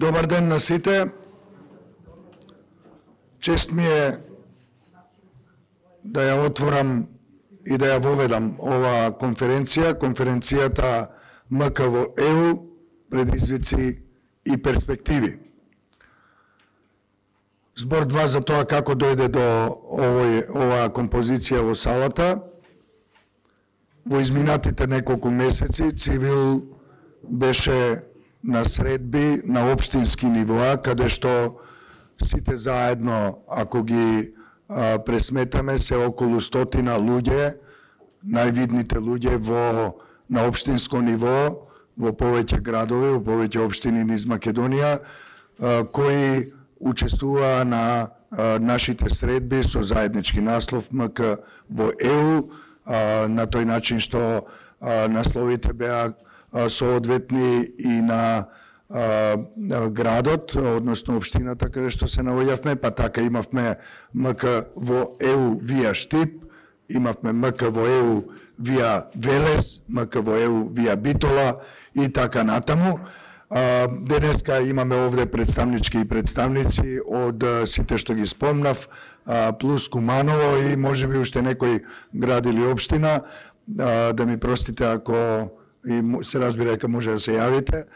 Добар ден на сите. Чест ми е да ја отворам и да ја воведам оваа конференција, конференцијата МК-ЕУ, предизвици и перспективи. Збор 2 за тоа како дојде до оваа композиција во салата. Во изминатите неколку месеци Цивил беше на средби на општински нивоа, каде што сите заедно, ако ги пресметаме, се околу 100 луѓе, највидните луѓе на општинско ниво, во повеќе градови, во повеќе општини низ Македонија, кои учествуваа на нашите средби со заеднички наслов МК во ЕУ, на тој начин што насловите беа соодветни и на градот, односно општината каде што се наоѓавме, па така имавме МК во ЕУ вија Штип, имавме МК во ЕУ вија Велес, МК во ЕУ вија Битола и така натаму. Денеска имаме овде представнички и представници од сите што ги спомнав, плюс Куманово и можеби уште некој град или општина. Да ми простите ако и се разбира дека може да се јавите,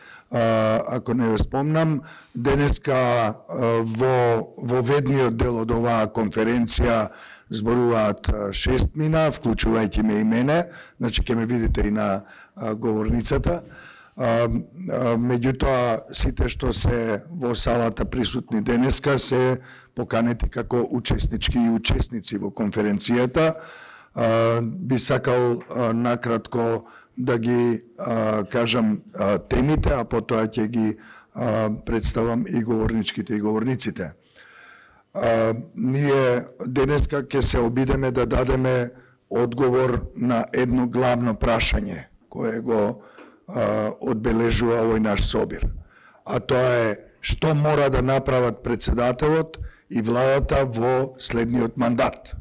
ако не ве спомнам. Денеска во ведниот дел од оваа конференција зборуваат 6 мина, вклучувајќи ме и мене, значи ќе ме видите и на говорницата. Меѓутоа, сите што се во салата присутни денеска се поканети како учеснички и учесници во конференцијата. Би сакал накратко да ги кажам темите, а потоа ќе ги представам и говорничките и говорниците. Ние денеска ќе се обидеме да дадеме одговор на едно главно прашање кое го одбележува овој наш собир. А тоа е што мора да направат председателот и владата во следниот мандат.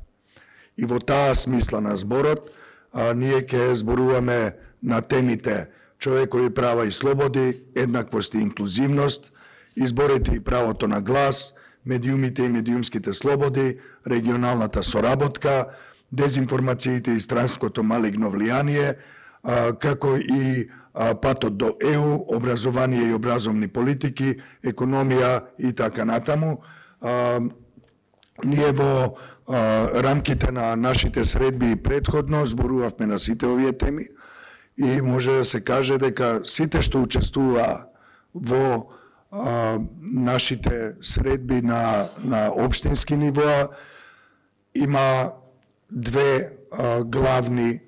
И во таа смисла на зборот ние ќе зборуваме на темите човекови права и слободи, еднаквост и инклузивност, изборите и правото на глас, медиумите и медиумските слободи, регионалната соработка, дезинформациите и странското малигно влијание, како и патот до ЕУ, образование и образовни политики, економија и така натаму. Ние во рамките на нашите средби и предходно зборувавме на сите овие теми и може да се каже дека сите што учествуваа во нашите средби на општински нивоа има две главни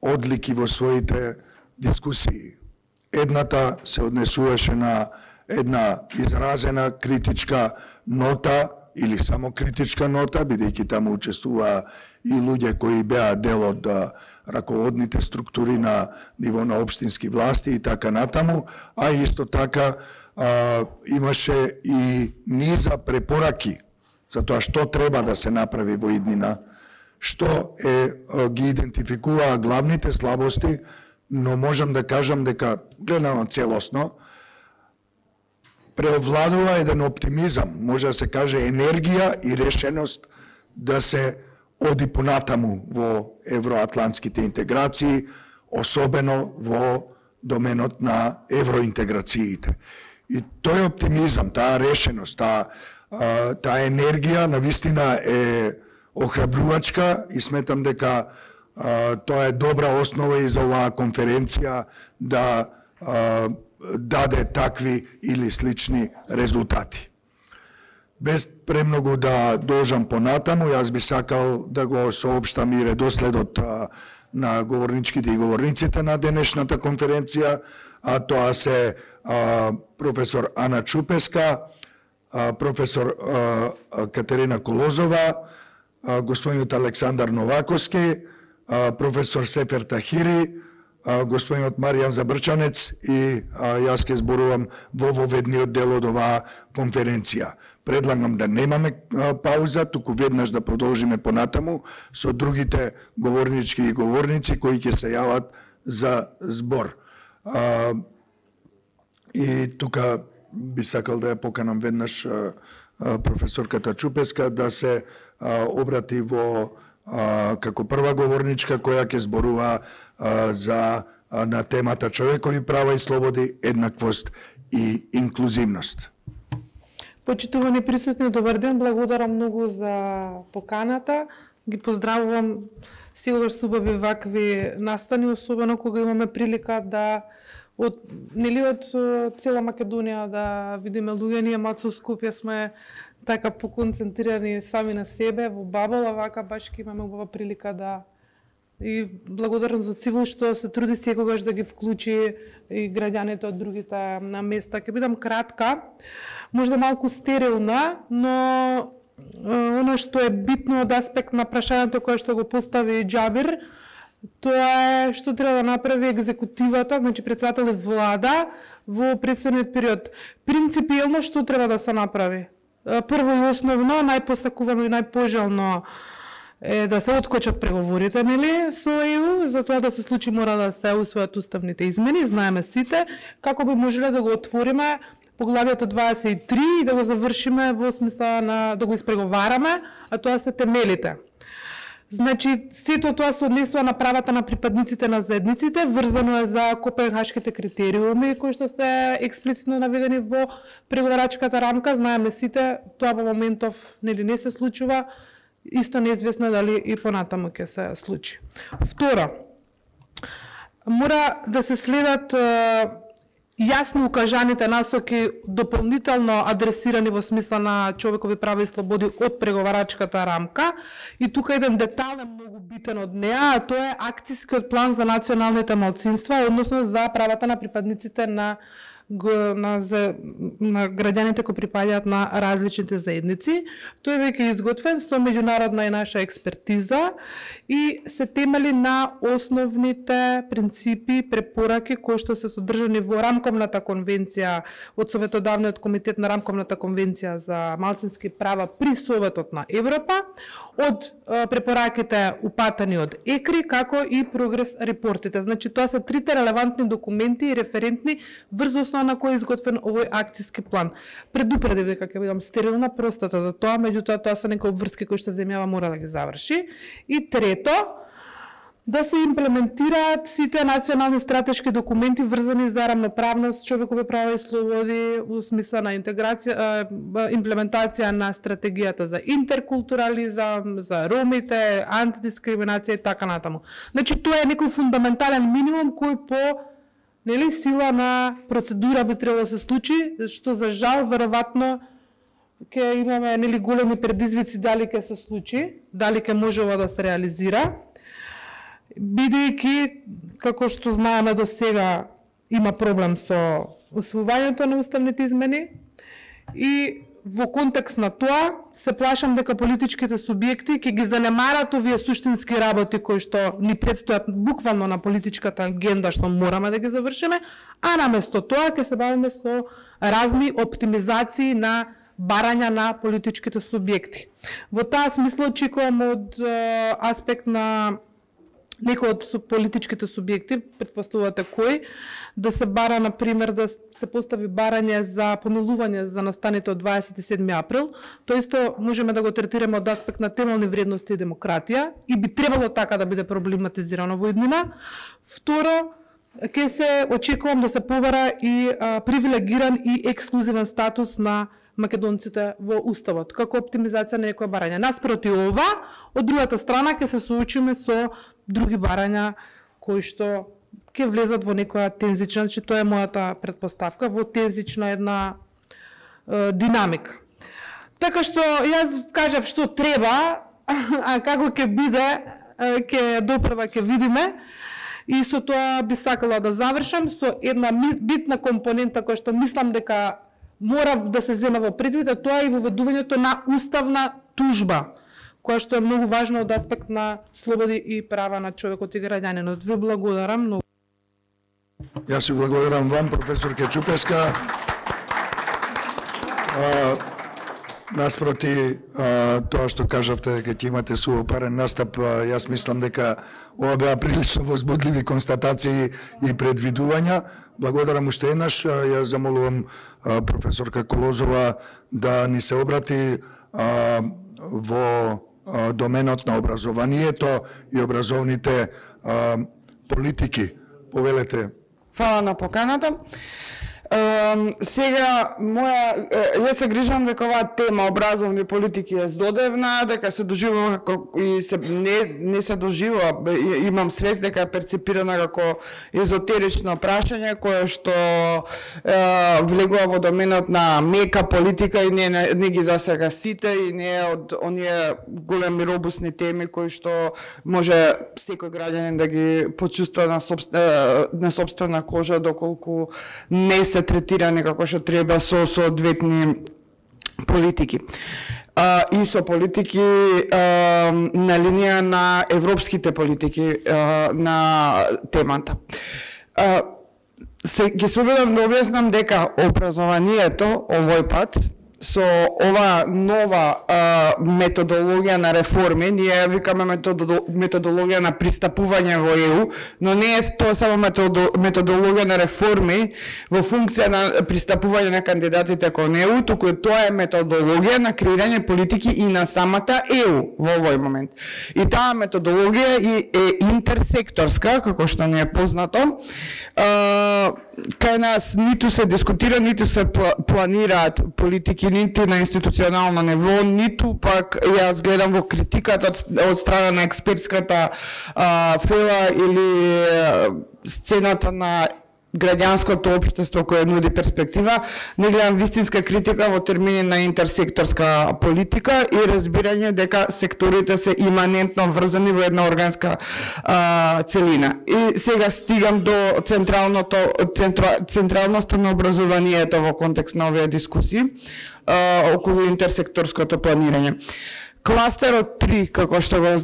одлики во своите дискусии. Едната се однесуваше на една изразена критичка нота или само критичка нота, бидејќи таму учествуваа и луѓе кои беа дел од раководните структури на ниво на општински власти и така натаму, а исто така имаше и низа препораки за тоа што треба да се направи во иднина, што ги идентификуваа главните слабости, но можам да кажам дека гледано целосно преовладува еден оптимизам, може да се каже енергија и решеност да се оди понатаму во евроатлантските интеграции, особено во доменот на евроинтеграциите. И тој оптимизам, таа решеност, таа енергија навистина е охрабрувачка и сметам дека тоа е добра основа и за оваа конференција да даде такви или слични резултати. Без премногу да должам понатаму, јас би сакал да го соопштам и редоследот на говорничките и говорниците на денешната конференција, а тоа се професор Ана Чупеска, професор Катерина Колозова, господинот Александар Новаковски, професор Сефер Тахири, господинот Маријан Забрчанец и јас ке зборувам во воведниот дел од оваа конференција. Предлагам да немаме пауза, туку веднаш да продолжиме понатаму со другите говорнички и говорници кои ќе се јават за збор. И тука би сакал да ја поканам веднаш професорката Чупеска да се обрати во како прва говорничка која ќе зборува на темата човекови права и слободи, еднаквост и инклузивност. Почитувани присутни, добар ден, благодарам многу за поканата. Ги поздравувам, сигурно се убави вакви настани, особено кога имаме прилика да од цела Македонија да видиме луѓе. Ние малку во Скопје сме така поконцентрирани сами на себе во бабол, а вака баш ќе имаме убава прилика да и благодарам за Цивил што се труди секогаш да ги вклучи и граѓаните од другите на места. Ќе бидам кратка, можда малку стерилна, но оно што е битно од аспект на прашањето кое што го постави Џабир, тоа е што треба да направи екзекутивата, значи председател и влада во предстојниот период. Принципиелно што треба да се направи? Прво и основно, најпосакувано и најпожелно е да се откочат преговорите, нели, со ЕУ. За тоа да се случи мора да се усвојат уставните измени, знаеме сите, како би можеле да го отвориме поглавјето 23 и да го завршиме во смисла на да го испреговараме, а тоа се темелите. Значи, сето тоа се однесува на правата на припадниците на заедниците, врзано е за Копенхашките критериуми, кои што се експлицитно наведени во преговарачката рамка. Знаеме сите, тоа во моментов нели не се случува, исто неизвестно е дали и понатаму ќе се случи. Второ, мора да се следат јасно укажаните насоки дополнително адресирани во смисла на човекови права и слободи од преговарачката рамка. И тука еден детал е многу битен од неа, а тоа е акцијскиот план за националните малцинства, односно за правата на припадниците на граѓаните кои припаѓаат на различните заедници. Тој е веќе изготвен со меѓународна и наша експертиза и се темели на основните принципи, препораки кои што се содржани во рамковната конвенција од Советодавниот комитет на рамковната конвенција за малцински права при Советот на Европа, од препораките упатани од ЕКРИ, како и прогрес репортите. Значи, тоа се трите релевантни документи и референтни врз основа на кој е изготвен овој акцијски план. Предупредив дека ќе бидам стерилна, простата за тоа, меѓутоа тоа се некои обврски кои што земјава мора да ги заврши. И трето, да се имплементираат сите национални стратешки документи врзани за рамноправност, човекови права и слободи во смисла на интеграција, имплементација на стратегијата за интеркултурализам, за ромите, антидискриминација и така натаму. Значи, тоа е некој фундаментален минимум кој по сила на процедура би требало да се случи, што за жал веројатно ќе имаме големи предизвици дали ќе се случи, дали ќе може ова да се реализира. Бидејќи, како што знаеме до сега, има проблем со усвојувањето на уставните измени и во контекст на тоа се плашам дека политичките субјекти ќе ги занемарат овие суштински работи кои што ни предстојат буквално на политичката агенда што мораме да ги завршиме, а наместо тоа ќе се бавиме со разни оптимизации на барања на политичките субјекти. Во таа смисла очекувам од аспект на некој од политичките субјекти, претпоставувате кој, да се бара, например, да се постави барање за помилување за настаните од 27 април. Тоа исто можеме да го третираме од аспект на темелни вредности и демократија и би требало така да биде проблематизирано во иднина. Второ, ќе се очекувам да се побара и привилегиран и ексклузивен статус на македонците во уставот, како оптимизација на некоја барање. Наспроти ова, од другата страна ќе се соочиме со други барања кои што ќе влезат во некоја тензична, значи тоа е мојата предпоставка, во тензична една динамика. Така што јас кажав што треба, а како ќе биде, ќе допрва ќе видиме. И со тоа би сакала да завршам со една битна компонента која што мислам дека мора да се зема во предвид, а тоа е и воведувањето на уставна тужба, која што е многу важно од аспект на слободи и права на човекот и граѓанинот. Ви благодарам многу. Јас ви благодарам вам, професор Чупеска. наспроти тоа што кажавте дека ќе имате суопарен настап, јас мислам дека ова беа прилично возбудливи констатации и предвидувања. Благодарам уште еднаш. Ја замолувам професорка Колозова да ни се обрати во доменот на образованието и образовните политики. Повелете. Фала на поканата. Сега, јас се грижам дека оваа тема образовни политики е здодевна, дека се доживува и не се доживува, имам свест дека е перцепирана како езотерично прашање кое што влегува во доменот на мека политика и не ги засега сите и не е од оние големи робусни теми кои што може секој граѓанин да ги почувствува на сопствена кожа доколку не се третирани како што треба со соодветни политики. И со политики на линија на европските политики на темата. Ги се обидам да објаснам дека образованието овој пат со ова нова методологија на реформи, ние ја викаме методологија на пристапување во ЕУ, но не е тоа само методологија на реформи во функција на пристапување на кандидатите кон ЕУ, туку тоа е методологија на креирање политики и на самата ЕУ во овој момент. И таа методологија е интерсекторска, како што ни е познато, кај нас ниту се дискутира, ниту се планираат политики нити на институционално ниво, ниту пак јас гледам во критиката од страна на експертската фела или сцената на граѓанското општество кое нуди перспектива, не гледам вистинска критика во термини на интерсекторска политика и разбирање дека секторите се иманентно врзани во една органска целина. И сега стигам до централноста на образованието во контекст на овие дискусии околу интерсекторското планирање. Кластерот 3, како што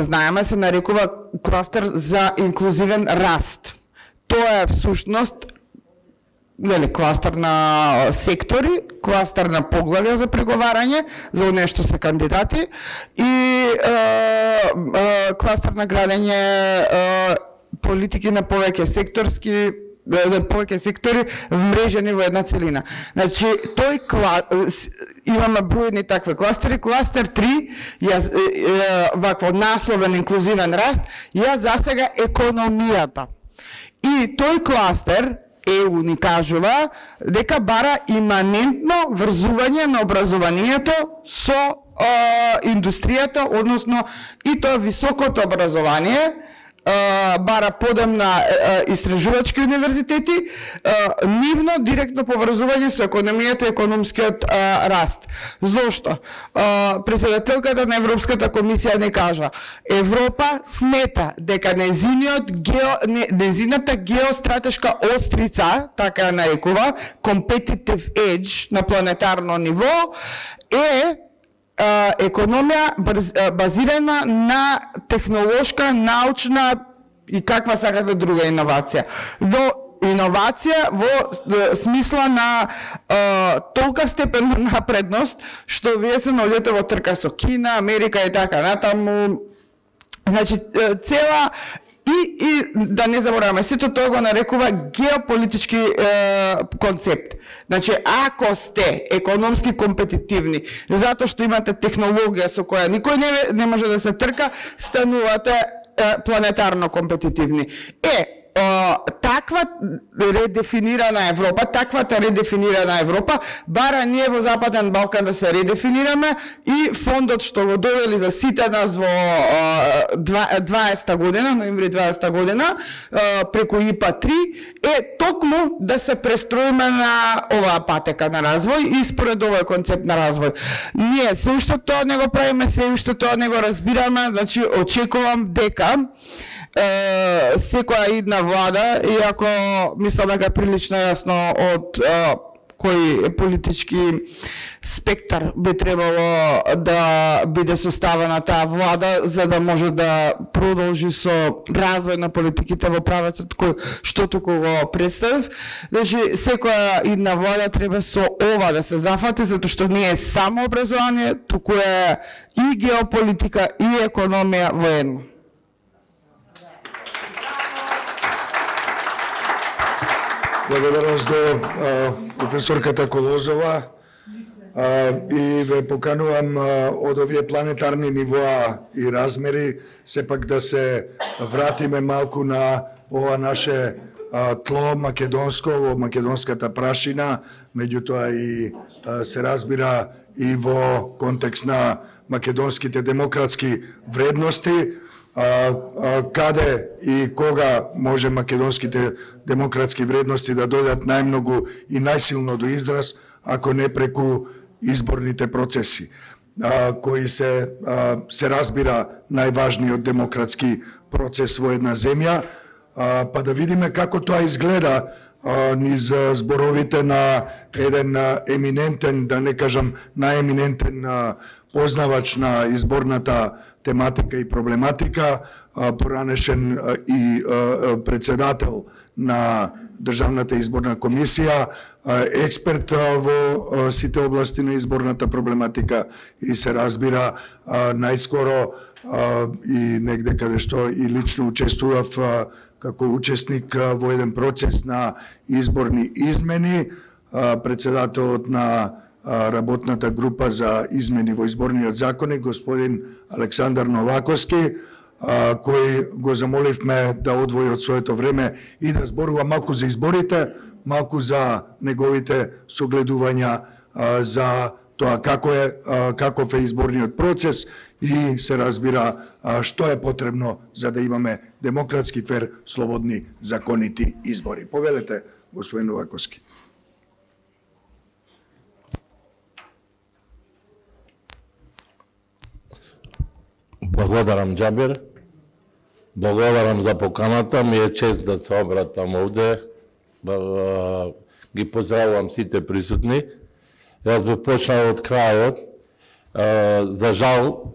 знаеме, се нарекува кластер за инклузивен раст. Тоа е всушност кластер на сектори, кластер на поглавја за преговарање, за нешто се кандидати и кластер на градење политики на повеќе сектори вмрежени во една целина. Значи, имаме бројни такви кластери. Кластер 3, вакво насловен инклузивен раст, ја засега економијата. И тој кластер, ЕУ ни кажува, дека бара иманентно врзување на образованието со индустријата, односно и тоа високото образование, бара подем на истражувачки универзитети, нивно директно поврзување со економијата и економскиот раст. Зошто? Председателката на Европската комисија не кажа, Европа смета дека незината геостратешка острица, така ја нарекува, competitive edge на планетарно ниво, е економија базирана на технолошка, научна и каква сакате друга иновација. Но иновација во смисла на толка степен на напредност, што вие се наоѓате во трка со Кина, Америка и така натаму. Значи, цела и да не забораваме, сето тоа го нарекува геополитички концепт. Значи, ако сте економски компетитивни, затоа што имате технологија со која никој не може да се трка, станувате планетарно компетитивни. Таквата редефинирана Европа бара ние во Западен Балкан да се редефинираме и фондот што го довели за сите нас во 20 година, ноември 20 година, преку ИПА-3, е токму да се престроиме на оваа патека на развој и според овој концепт на развој. Ние се уште тоа не го правиме, се уште тоа не го разбираме, значи очекувам дека секоја идна влада, иако мислам дека прилично јасно од кој политички спектар би требало да биде составена таа влада за да може да продолжи со развој на политиките во правецот кој што туку го представив. Значи секоја идна влада треба со ова да се зафати, затоа што не е само образование, туку е и геополитика и економија во едно. Благодарност до професорката Колозова и ве поканувам од овие планетарни нивоа и размери сепак да се вратиме малку на ова наше тло македонско, во македонската прашина, меѓутоа и се разбира и во контекст на македонските демократски вредности, каде и кога може македонските демократски вредности да дојдат најмногу и најсилно до израз, ако не преку изборните процеси, кои се разбира најважниот демократски процес во една земја, па да видиме како тоа изгледа низ зборовите на еден еминентен, да не кажам најеминентен познавач на изборната тематика и проблематика, поранешен и председател на Државната изборна комисија, експерт во сите области на изборната проблематика и се разбира најскоро и негде каде што и лично учествував како учесник во еден процес на изборни измени, председателот на работната група за измени во изборниот законник, господин Александар Новаковски, кој го замоливме да одвои од своето време и да зборува малку за изборите, малку за неговите согледувања за тоа каков е изборниот процес и се разбира што е потребно за да имаме демократски, фер, слободни, законити избори. Повелете, господин Новаковски. Благодарам, Џабир. Благодарам за поканата. Ми е чест да се обратам овде. Ги поздравувам сите присутни. Јас би почнал од крајот. За жал,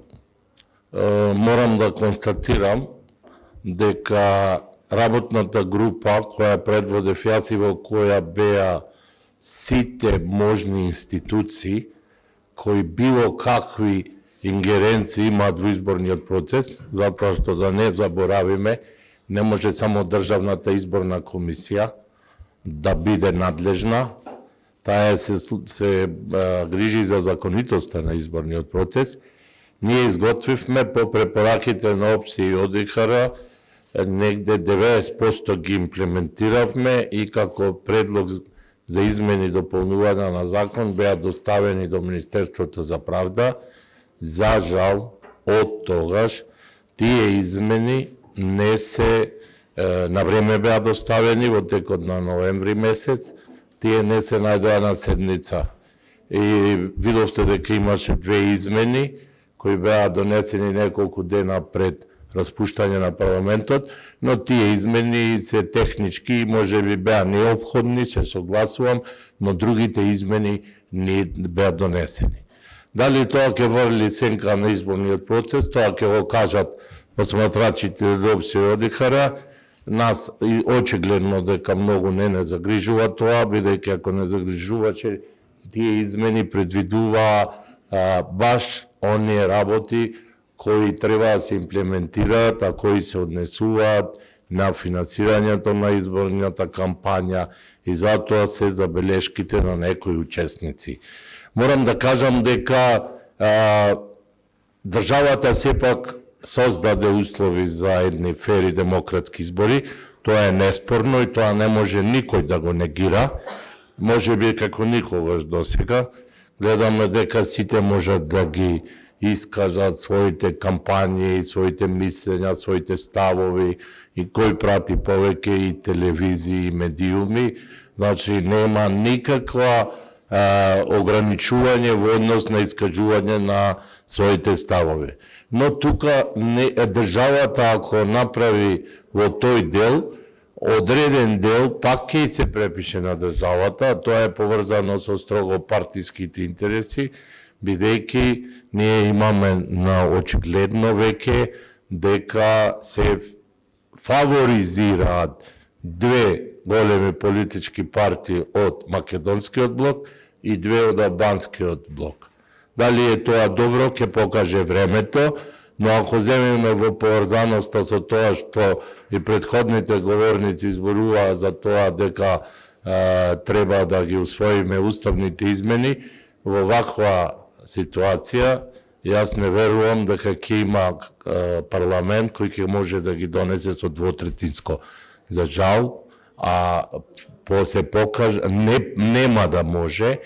морам да констатирам дека работната група која предводев јас и во која беа сите можни институции кои било какви ингеренции имаат во изборниот процес, затоа што да не заборавиме, не може само Државната изборна комисија да биде надлежна, таа се грижи за законитоста на изборниот процес. Ние изготвивме по препораките на ОПСИ и ОДИХР, негде 90% ги имплементиравме и како предлог за измени и дополнување на закон беа доставени до Министерството за правда. За жал, од тогаш, тие измени не се на време беа доставени во текот на ноември месец, тие не се најдоа на седница. И видовте дека имаше две измени, кои беа донесени неколку дена пред распуштање на парламентот, но тие измени се технички и може би беа неопходни, се согласувам, но другите измени не беа донесени. Дали тоа ќе врли сенка на изборниот процес, тоа ќе го кажат посматрачите од ОПСИ и ОДИХР. Нас очигледно дека многу не загрижува тоа, бидејќи ако не загрижуваче, тие измени предвидува баш оние работи кои треба да се имплементираат, а кои се однесуваат на финансирањето на изборната кампања и затоа се забелешките на некои учесници. Морам да кажам дека државата сепак создаде услови за едни фери демократски избори. Тоа е неспорно и тоа не може никој да го негира. Може би како никогаш досега. Гледаме дека сите можат да ги искажат своите кампањи, своите мислења, своите ставови и кој прати повеќе и телевизии и медиуми. Значи нема никаква ограничување во однос на искажување на своите ставови. Но тука државата ако направи во тој дел, одреден дел пак ќе се препише на државата, тоа е поврзано со строго партиските интереси, бидејќи ние имаме на очигледно веќе дека се фаворизираат две големи политички партии од Македонскиот блок и две од Албанскиот блок. Дали е тоа добро, ќе покаже времето, но ако земеме во поврзаноста со тоа што и предходните говорници зборуваа за тоа дека треба да ги усвоиме уставните измени, во ваква ситуација, јас не верувам дека ќе има парламент кој ќе може да ги донесе со двотретинско. За жал, се покаже, нема да може,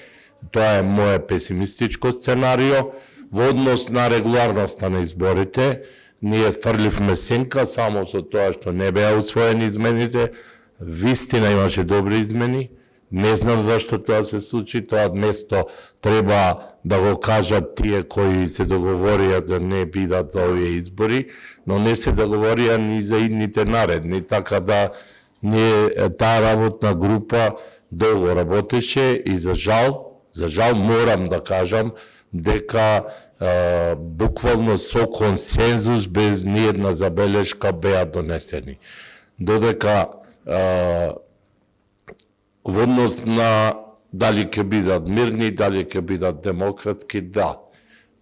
тоа е моје песимистичко сценарио, во однос на регуларноста на изборите, ние фрливме сенка само со тоа што не беа усвоени измените, вистина имаше добри измени, не знам зашто тоа се случи, тоа место треба да го кажат тие кои се договорија да не бидат за овие избори, но не се договорија ни за идните наредни, така да таа работна група долго работеше и за жал морам да кажам дека буквално со консензус без ниедна забелешка беа донесени. Додека во однос на дали ќе бидат мирни, дали ќе бидат демократски, да.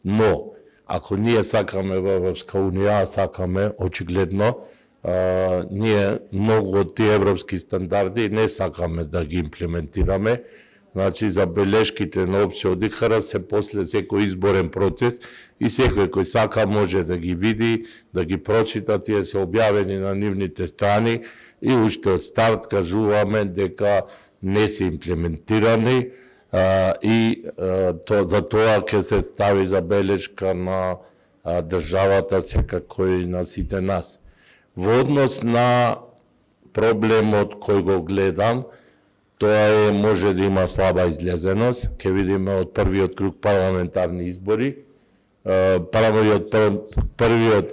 Но, ако ние сакаме во Европска унија, сакаме очигледно, ние многу од тие европски стандарди не сакаме да ги имплементираме. Значи, забелешките на опција одихара се после секој изборен процес и секој кој сака може да ги види, да ги прочита, тие се објавени на нивните страни и уште од старт кажуваме дека не се имплементирани и за тоа ќе се стави забелешка на државата секако и на сите нас. Во однос на проблемот кој го гледам, тоа може да има слаба излезеност, ќе видиме од првиот круг парламентарни избори, првиот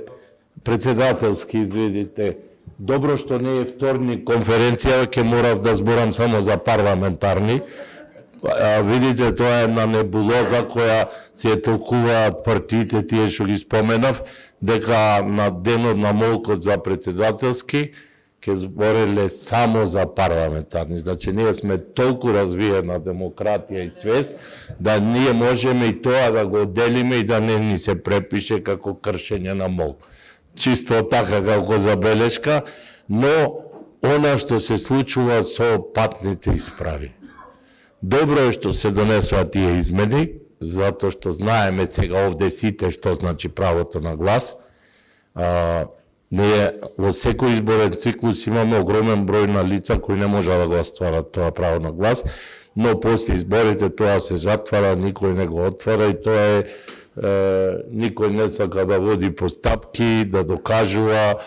председателски, извидите, добро што не е вторник конференција, ќе морав да зборам само за парламентарни. Видите, тоа е една небулоза која се толкуваат партиите, тие што ги споменав, дека на денот на молкот за председателски ќе збореле само за парламентарни. Значи, ние сме толку развиена демократија и свест, да ние можеме и тоа да го отделиме и да не ни се препише како кршење на молк. Чисто така како забелешка, но она што се случува со патните исправи. Добро е што се донесува тие измени, затоа што знаеме сега овде сите што значи правото на глас. Ние во секој изборен циклус имаме огромен број на лица кои не може да го остварат тоа право на глас, но после изборите тоа се затвара, никој не го отвара и тоа е никој не сака да води постапки, да докажува,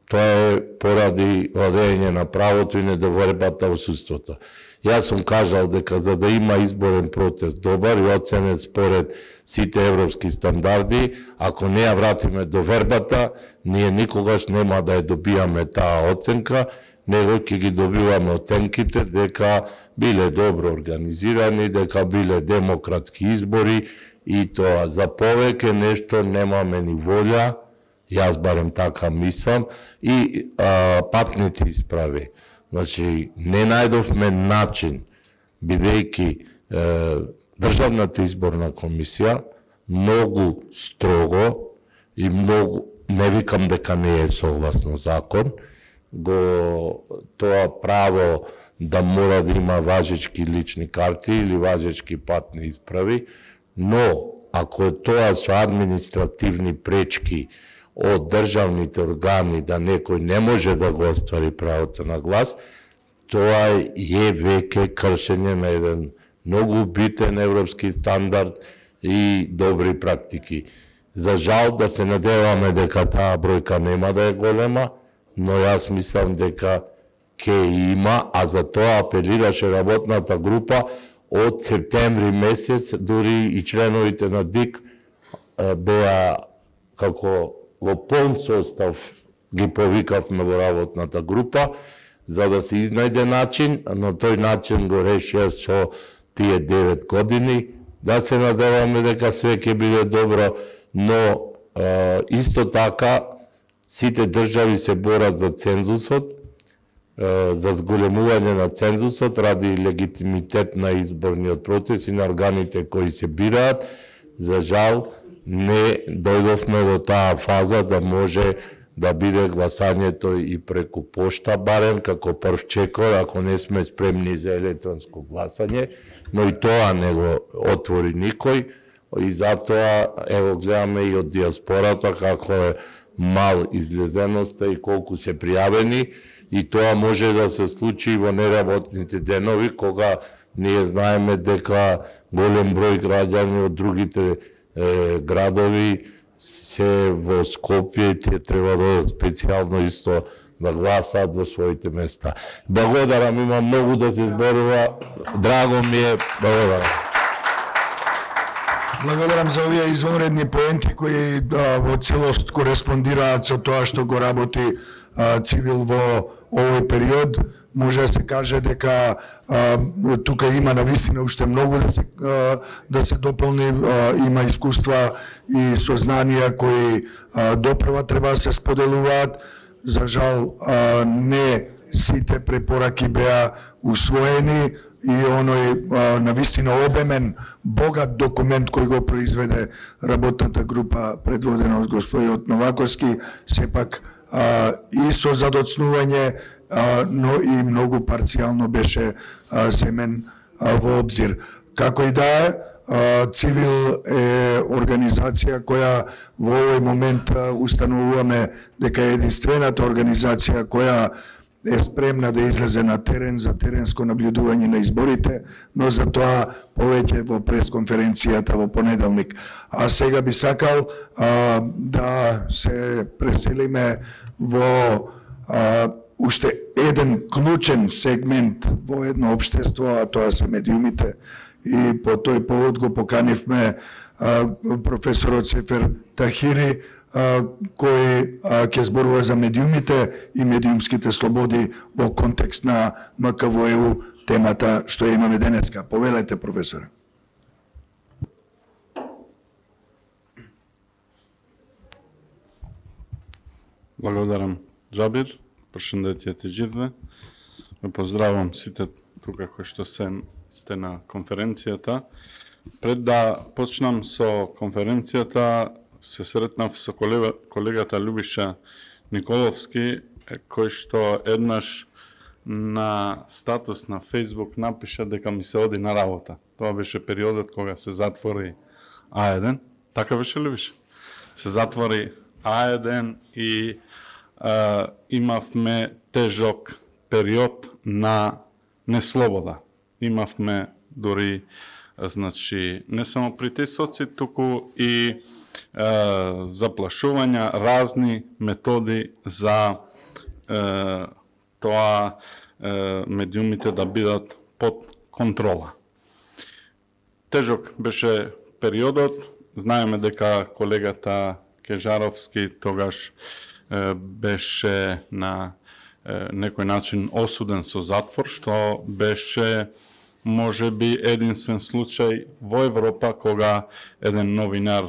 тоа е поради владење на правото и недовербата во судството. Јас сум кажал дека за да има изборен процес добар и оценет според сите европски стандарди, ако не ја вратиме довербата, ние никогаш нема да ја добијаме таа оценка, него ќе ги добиваме оценките дека биле добро организирани, дека биле демократски избори и тоа за повеќе нешто немаме ни волја, јас барем така мислам, и патните исправи. Значи, не најдовме начин, бидејќи Државната изборна комисија многу строго и многу, не викам дека не е согласно закон, тоа право да мора да има важечки лични карти или важечки патни исправи, но ако тоа со административни пречки од државните органи да некој не може да го оствари правото на глас, тоа е веќе кршење на еден многу битен европски стандард и добри практики. За жал да се надеваме дека таа бројка нема да е голема, но јас мислам дека ќе има, а за тоа апелираше работната група од септември месец, дури и членовите на ДИК беа како во полн состав ги повикавме во работната група, за да се изнајде начин, но тој начин го решија со тие 9 години, да се надеваме дека све ќе биде добро, но исто така сите држави се борат за цензусот, за зголемување на цензусот ради легитимитет на изборниот процес и на органите кои се бираат. За жал, не дојдовме до таа фаза да може да биде гласањето и преку пошта, барем како прв чекор, ако не сме спремни за електронско гласање, но и тоа не го отвори никој, и затоа, ево, гледаме и од диаспората како е мал излезеноста и колку се пријавени, и тоа може да се случи во неработните денови, кога ние знаеме дека голем број граѓани од другите градови се во Скопје и тие треба да специјално исто да гласаат во своите места. Благодарам, има многу да се зборува. Драго ми е, благодарам. Благодарам за овие извонредни поенти кои во целост кореспондираат со тоа што го работи Цивил во овој период. Може да се каже дека тука има навистина уште многу да се дополни, има искуства и сознанија кои допрева треба да се споделуваат. За жал, не сите препораки беа усвоени и оној навистина обемен, богат документ кој го произведе работната група предводена од господинот Новаковски, сепак и со задоцнување, но и многу парцијално беше земен во обзир. Како и да е, Цивил е организација која во овој момент установуваме дека е единствената организација која е спремна да излезе на терен за теренско наблюдување на изборите, но за тоа повеќе во пресконференцијата во понеделник. А сега би сакал да се преселиме во уште еден клучен сегмент во едно општество, а тоа се медиумите. И по тој повод го поканивме професорот Сефер Тахири, кој ќе зборува за медиумите и медиумските слободи во контекст на МКВО, темата што имаме денеска. Повелете, професоре. Благодарам, Джабир. Прошендетје ти Џирве. Ме поздравам сите тука кои што сте на конференцијата. Пред да почнам со конференцијата, се сретнав со колегата Љубиша Николовски, кој што еднаш на статус на Facebook напиша дека ми се оди на работа. Тоа беше периодот кога се затвори А1. Така беше, Љубиша? Се затвори А1 и имавме тежок период на неслобода. Имавме дури, значи, не само притисоци, туку и заплашувања, разни методи за тоа медиумите да бидат под контрола. Тежок беше периодот. Знаеме дека колегата Кежаровски тогаш беше на некој начин осуден со затвор, што беше можеби единствен случај во Европа кога еден новинар,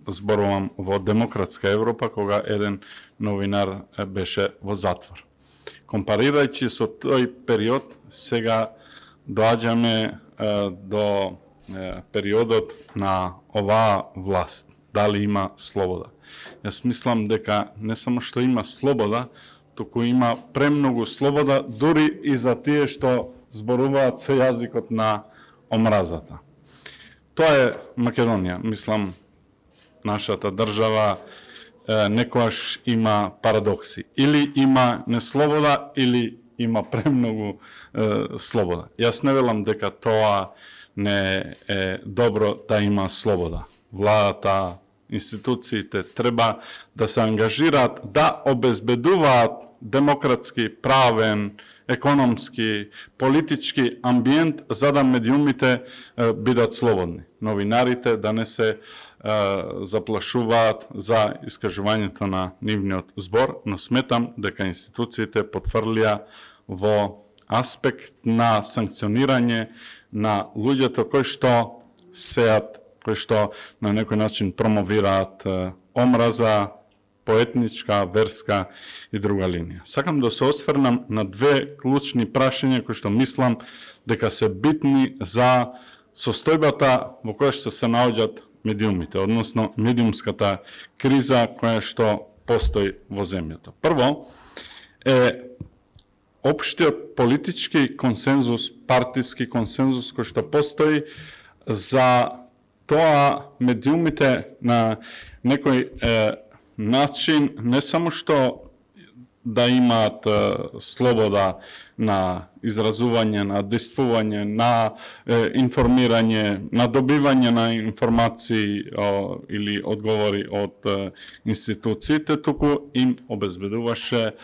зборувам во демократска Европа, кога еден новинар беше во затвор. Компарирајќи со тој период, сега доаѓаме до периодот на оваа власт. Дали има слобода? Јас мислам дека не само што има слобода, туку има премногу слобода, дури и за тие што зборуваат со јазикот на омразата. Тоа е Македонија. Мислам, нашата држава некојаш има парадокси. Или има неслобода, или има премногу слобода. Јас не велам дека тоа не е добро да има слобода. Владата, институциите треба да се ангажираат, да обезбедуваат демократски, правен економски, политички амбиент за да медиумите бидат слободни. Новинарите да не се заплашуваат за искажувањето на нивниот збор, но сметам дека институциите потврлија во аспект на санкционирање на луѓето кои што сеат, кои што на некој начин промовираат омраза, поетничка, верска и друга линија. Сакам да се осврнам на две клучни прашања кои што мислам дека се битни за состојбата во која што се наоѓаат медиумите, односно медиумската криза која што постои во земјата. Прво е општиот политички консензус, партиски консензус кој што постои за тоа медиумите на некој начин не само што да имаат слобода на изразување, на действување, на информирање, на добивање на информации или одговори од институциите, туку им обезбедуваше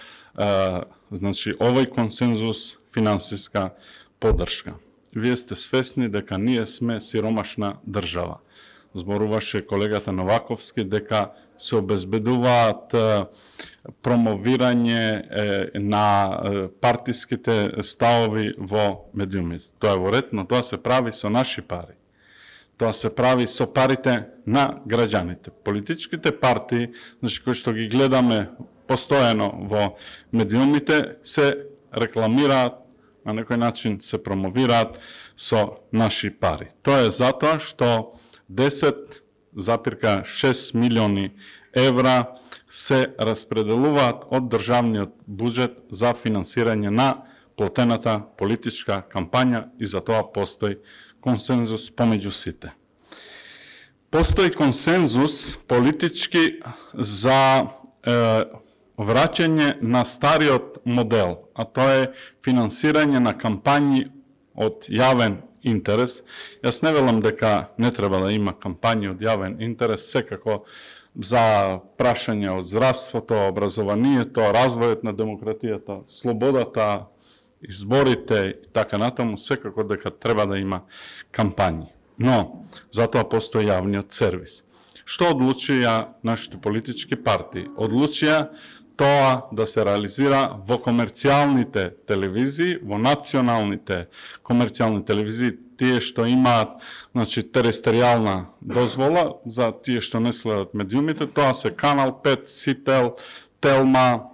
значи овој консензус финансиска поддршка. Вие сте свесни дека ние сме сиромашна држава. Зборуваше колегата Новаковски дека се обезбедуваат промовирање на партиските ставови во медиумите. Тоа е во ред, но тоа се прави со наши пари. Тоа се прави со парите на граѓаните. Политичките партии, значи кои што ги гледаме постојано во медиумите, се рекламираат, на некој начин се промовираат со наши пари. Тоа е затоа што 10,6 милиони евра се распределуваат од државниот буџет за финансирање на платената политичка кампања и за тоа постои консензус помеѓу сите. Постои консензус политички за враќање на стариот модел, а тоа е финансирање на кампањи од јавен интерес. Јас не велам дека не треба да има кампањи од јавен интерес, секако за прашања од здравството, образованието, развојот на демократијата, слободата, изборите и така натаму, секако дека треба да има кампањи. Но, затоа постои јавниот сервис. Што одлучија нашите политички партии? Одлучија тоа да се реализира во комерцијалните телевизии, во националните комерцијални телевизии, тие што имаат, значи, тересторијална дозвола, за тие што не следат медиумите, тоа се Канал 5, Сител, Телма,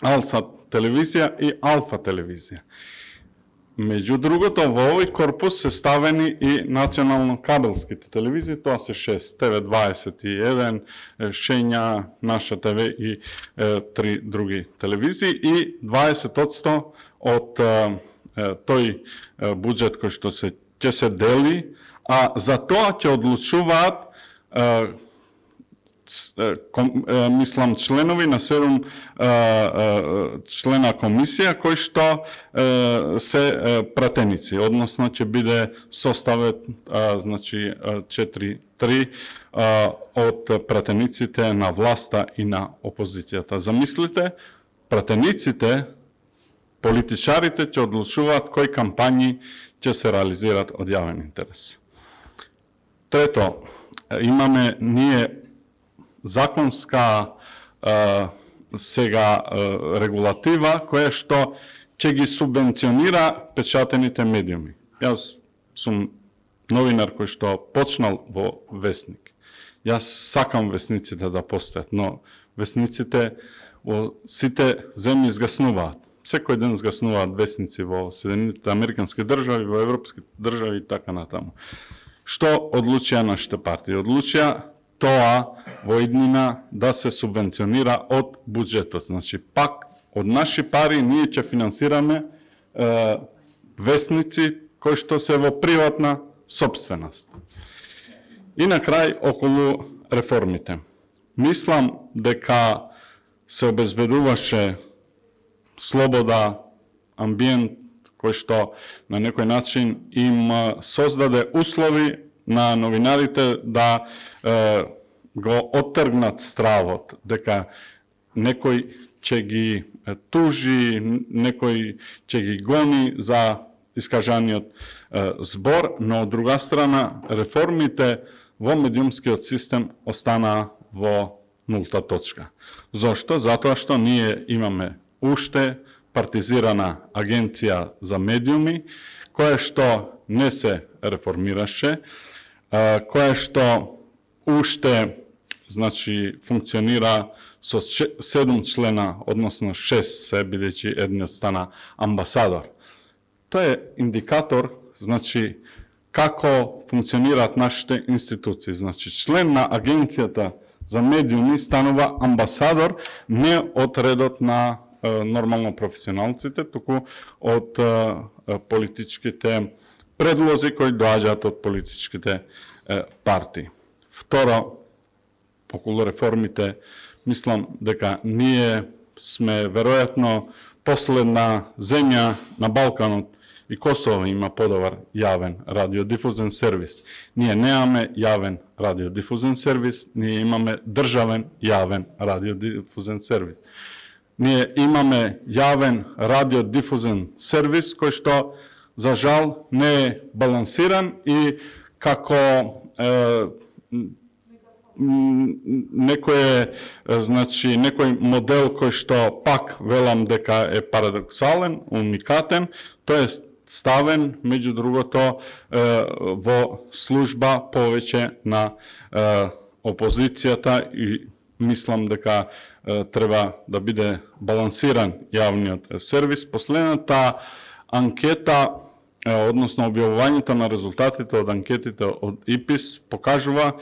Алсат телевизија и Алфа телевизија. Меѓу другото, во овој корпус се ставени и национално-кабелските телевизии, тоа се 6, ТВ21, Шења, Наша ТВ и 3 други телевизии и 20% од тој буџет кој што ќе се дели, а за тоа ќе одлучуваат мислам членови на 7 члена комисија кои што се пратеници, односно ќе биде составет значи 4-3 од пратениците на власта и на опозицијата. Замислите, пратениците, политичарите ќе одлучуваат кои кампањи ќе се реализираат од јавен интерес. Трето, имаме ние законска сега регулатива која што ќе ги субвенционира печатените медиуми. Јас сум новинар кој што почнал во Весник. Јас сакам весниците да постојат, но весниците во сите земји згаснуваат. Секој ден згаснуваат весници во Соединетите Американски држави, во европски држави и така натаму. Што одлучија нашите партии? Одлучија тоа во иднина да се субвенционира од буџетот. Значи, пак од наши пари ние ќе финансираме весници кои што се во приватна сопственост. И на крај, околу реформите. Мислам дека се обезбедуваше слобода, амбиент кој што на некој начин им создаде услови на новинарите да го оттргнат стравот дека некој ќе ги тужи, некој ќе ги гони за искажаниот збор, но од друга страна реформите во медиумскиот систем останаа во нулта точка. Зошто? Затоа што ние имаме уште партизирана агенција за медиуми, која што не се реформираше, која што уште функционира со 7 члена, односно 6 се, бидејќи едниот стана амбасадор. Тоа е индикатор, како функционираат нашите институции. Член на агенцијата за медиуми станува амбасадор не од редот на нормално професионалците, туку од политичките предлози кои доаѓаат од политичките партии. Второ, околу реформите, мислам дека ние сме веројатно последна земја на Балканот и Косово има подобар јавен радиодифузен сервис. Ние немаме јавен радиодифузен сервис, ние имаме државен јавен радиодифузен сервис. Ние имаме јавен радиодифузен сервис кој што за жал не е балансиран и како некој модел кој што пак велам дека е парадоксален, уникатен, тој е ставен, меѓу другото, во служба повеќе на опозицијата и мислам дека треба да биде балансиран јавниот сервис. Последната анкета, односно објавувањето на резултатите од анкетите од ИПИС покажува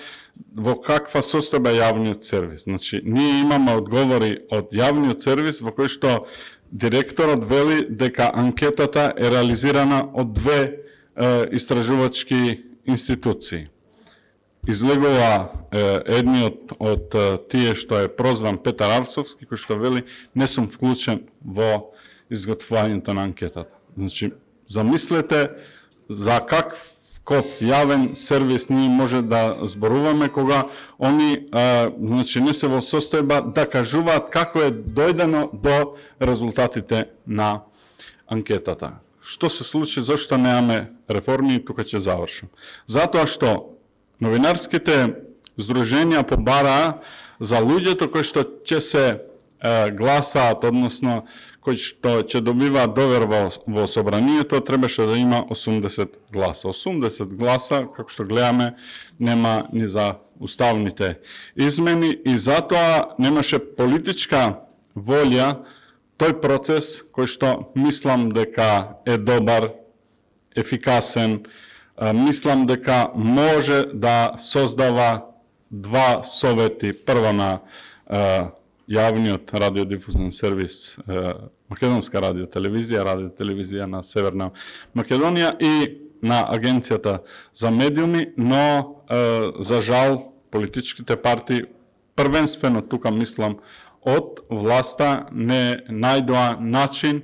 во каква состојба е јавниот сервис. Ние имаме одговори од јавниот сервис во кој што директорот вели дека анкетата е реализирана од две истражувачки институции. Излегува едниот од тие што е прозван Петар Арсовски, кој што вели не сум вклучен во изготвувањето на анкетата. Замислете за каков јавен сервис ние може да зборуваме кога они не се во состојба да кажуваат како е дојдено до резултатите на анкетата. Што се случи, зашто немаме реформи, и тука ќе завршам. Затоа што новинарските здруженија побараа за луѓето кои што ќе се гласаат, односно кои што ќе добиваат довер во собранието, требаше да има 80 гласа. 80 гласа, како што гледаме, нема ни за уставните измени и затоа немаше политичка волја тој процес кој што мислам дека е добар, ефикасен, мислам дека може да создава два совети, прво на јавниот радиодифузен сервис Македонска радиотелевизија на Северна Македонија и на Агенцијата за медиуми, но за жал политичките партии првенствено тука мислам од власта не најдоа начин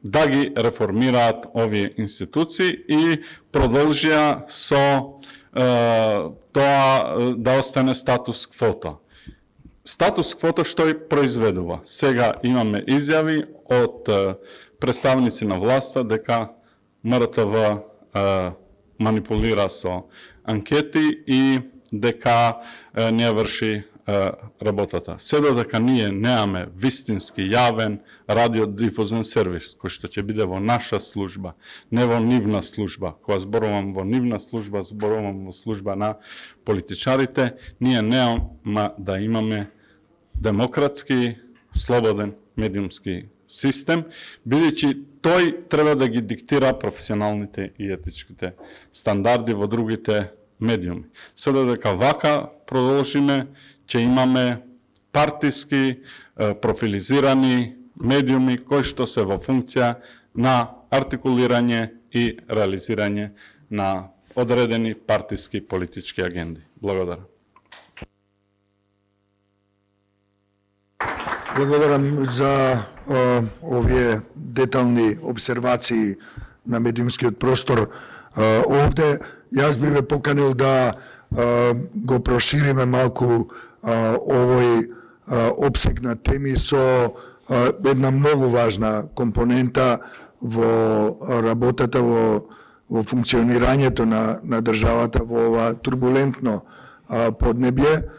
да ги реформираат овие институции и продолжија со тоа да остане статус квота. Статус квота што и произведува. Сега имаме изјави од представници на власта дека МРТВ манипулира со анкети и дека не врши работата. Се додека ние немаме вистински јавен радиодифузен сервис, кој што ќе биде во наша служба, не во нивна служба. Кога зборувам во нивна служба, зборувам во служба на политичарите, ние нема да имаме демократски, слободен медиумски систем, бидејќи тој треба да ги диктира професионалните и етичките стандарди во другите медиуми. Се додека вака продолжиме, ќе имаме партиски, профилизирани медиуми кои што се во функција на артикулирање и реализирање на одредени партиски политички агенди. Благодарам. Благодарам за овие детални обсервации на медиумскиот простор. Овде јас би ве поканил да го прошириме малку овој обсег на теми со една многу важна компонента во работата во функционирањето на државата во ова турбулентно поднебје.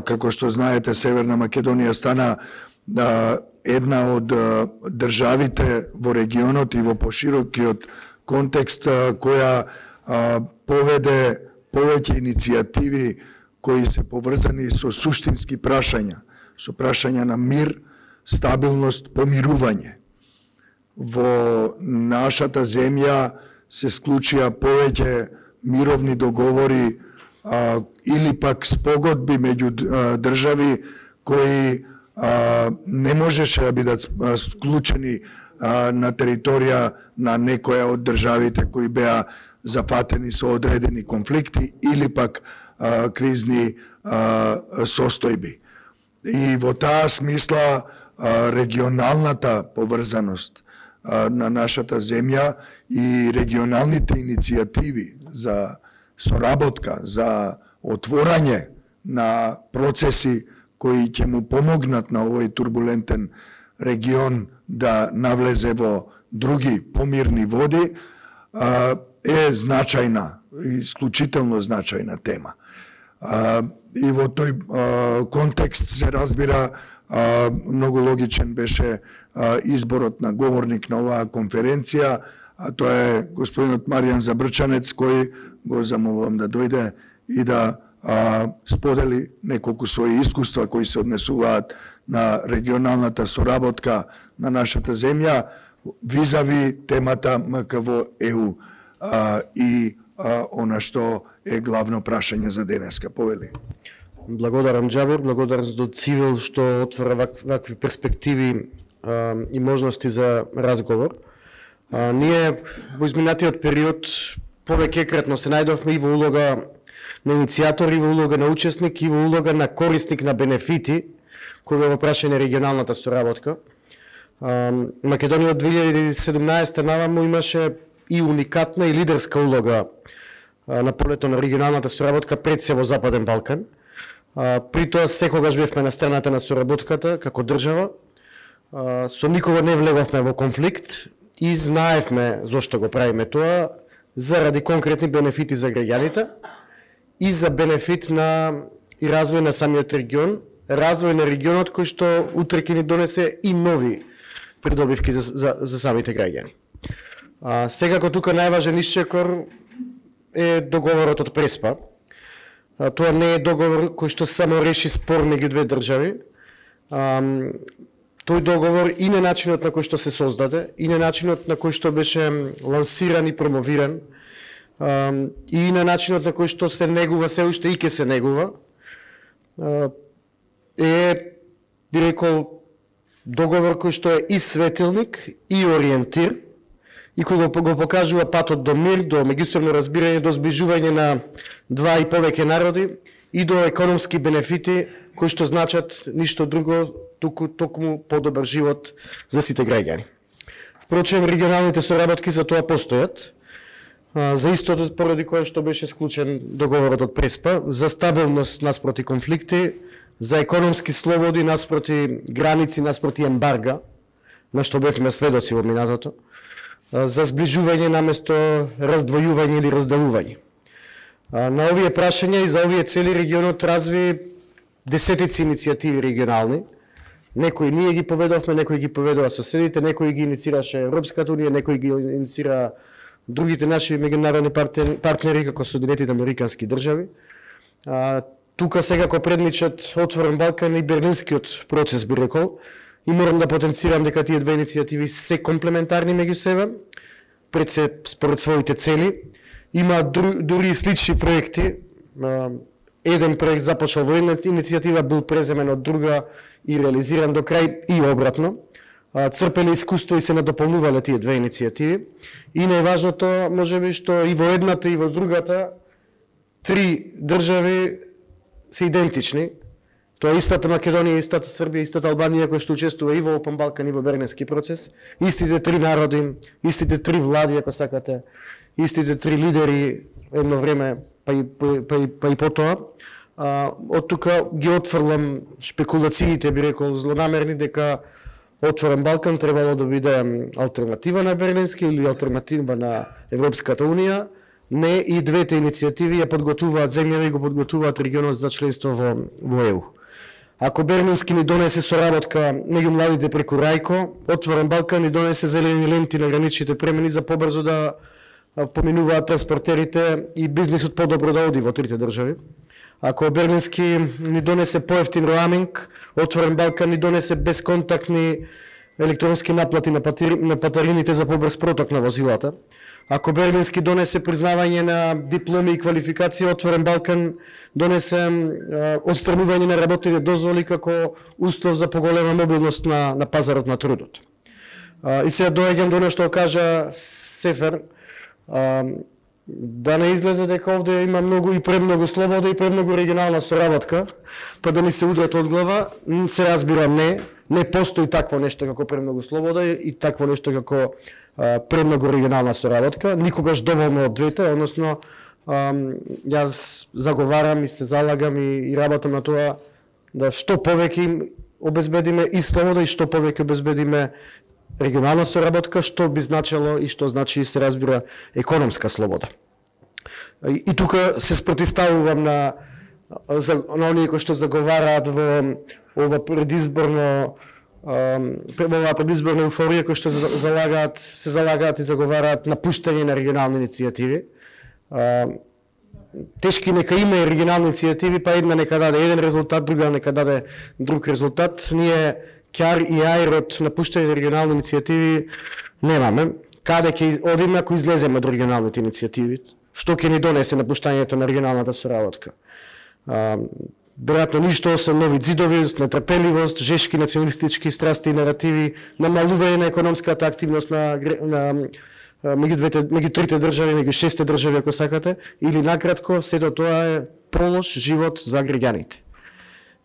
Како што знаете, Северна Македонија стана една од државите во регионот и во поширокиот контекст која поведе повеќе иницијативи кои се поврзани со суштински прашања, со прашања на мир, стабилност, помирување. Во нашата земја се склучија повеќе мировни договори или пак спогодби меѓу држави кои не можеше да бидат склучени на територија на некоја од државите кои беа зафатени со одредени конфликти или пак кризни состојби. И во таа смисла регионалната поврзаност на нашата земја и регионалните иницијативи за соработка, за отворање на процеси кои ќе му помогнат на овој турбулентен регион да навлезе во други помирни води, е значајна, исклучително значајна тема. И во тој контекст се разбира, многу логичен беше изборот на говорник на оваа конференција, а тоа е господинот Маријан Забрчанец, кој го замолувам да дојде и да сподели неколку своји искуства кои се однесуваат на регионалната соработка на нашата земја визави темата МКВ-ЕУ и она што е главно прашање за денеска. Повели. Благодарам, Џабир, благодарам за Цивил што отвора вакви перспективи и можности за разговор. Ние во изминатиот период повеќекратно се најдовме и во улога на иницијатор, и во улога на учесник, и во улога на корисник на бенефити, кој е во прашање регионалната соработка. Македонија од 2017 наваму имаше и уникатна и лидерска улога на полето на регионалната соработка пред се во Западен Балкан. При тоа секогаш бевме на страната на соработката како држава, со никога не влеговме во конфликт и знаевме зошто го правиме тоа, заради конкретни бенефити за граѓаните и за бенефит на и развој на самиот регион, развој на регионот кој што утре ќе ни донесе и нови придобивки за самите граѓани. Секако тука најважен исчекор е договорот од Преспа. Тоа не е договор кој што само реши спор меѓу две држави. Тој договор и на начинот на кој што се создаде, и на начинот на кој што беше лансиран и промовиран, и на начинот на кој што се негува се уште и ќе се негува, би рекол, договор кој што е и светилник, и ориентир, и кој го покажува патот до мир, до меѓусебно разбирање, до зближување на два и повеќе народи и до економски бенефити кои што значат ништо друго, токму подобар живот за сите граѓани. Впрочем, регионалните соработки за тоа постојат, за истото поради кое што беше склучен договорот од Преспа, за стабилност наспроти конфликти, за економски слободи наспроти граници, наспроти ембарга, на што бевме сведоци во минатото, за зближување наместо раздвојување или разделување. На овие прашања и за овие цели регионот разви десетици иницијативи регионални. Некои ние ги поведовме, некои ги поведува соседите, некои ги инициираше Европската унија, некои ги инициира другите наши меѓународни партнери, како Соединетите американски држави. Тука секако предничат Отворен Балкан и Берлинскиот процес, би рекол. И морам да потенцирам дека тие две иницијативи се комплементарни меѓу себе, пред се според своите цели. Има дури и слични проекти. Еден проект започнал во една иницијатива, бил преземен од друга и реализиран до крај и обратно. Црпеле искуство и се надополнувале тие две иницијативи. И најважното, можеби, што и во едната и во другата три држави се идентични. Тоа е истата Македонија, истата Србија, истата Албанија која што учествува и во Опен Балкан и во Бернински процес. Истите три народи, истите три влади, ако сакате, истите три лидери едно време, па и потоа. Од тука ги отфрлам шпекулациите, би рекол, злонамерни, дека Отворен Балкан требало да биде алтернатива на Берлински или алтернатива на Европската Унија. Не, и двете иницијативи ја подготуваат земјава и го подготуваат регионот за членство во ЕУ. Ако Берлински ни донесе соработка меѓу младите преку Рајко, Отворен Балкан ни донесе зелени ленти на граничните премини за побрзо да поминуваат транспортерите и бизнисот подобро да оди во трите држави. Ако Берлински ни донесе поевтин роаминг, Отворен Балкан ни донесе безконтактни електронски наплати на патарините за побрз проток на возилата. Ако Берлински донесе признавање на дипломи и квалификации, Отворен Балкан донесе отстранување на работните дозволи како услов за поголема мобилност на пазарот на трудот. И сега доаѓам до нешто кажа Сефер, да не излезе дека овде има многу и премногу слобода и премногу регионална соработка, па да ни се удрат од глава. Се разбирам, не постои такво нешто како премногу слобода и такво нешто како премногу регионална соработка, никогаш доволно од двете, односно јас заговарам и се залагам и работам на тоа да што повеќе им обезбедиме и слобода и што повеќе обезбедиме регионална соработка, што би значило и што значи се разбира економска слобода. И тука се спротивставувам на оние кои што заговараат во ова предизборна еуфорија, кои што се залагаат и заговараат напуштање на регионални иницијативи. Тешки нека има и регионални иницијативи, па една нека даде еден резултат, друга нека даде друг резултат. Ние ќар и ајр од напуштање на регионални иницијативи немаме. Каде ќе одиме ако излеземе од регионалните иницијативи? Што ќе ни донесе напуштањето на регионалната соработка? Веројатно ништо освен нови ѕидови, нетрпеливост, жешки националистички страсти и наративи, намалување на економската активност меѓу трите држави, меѓу 6 држави ако сакате, или накратко, сето тоа е полош живот за граѓаните.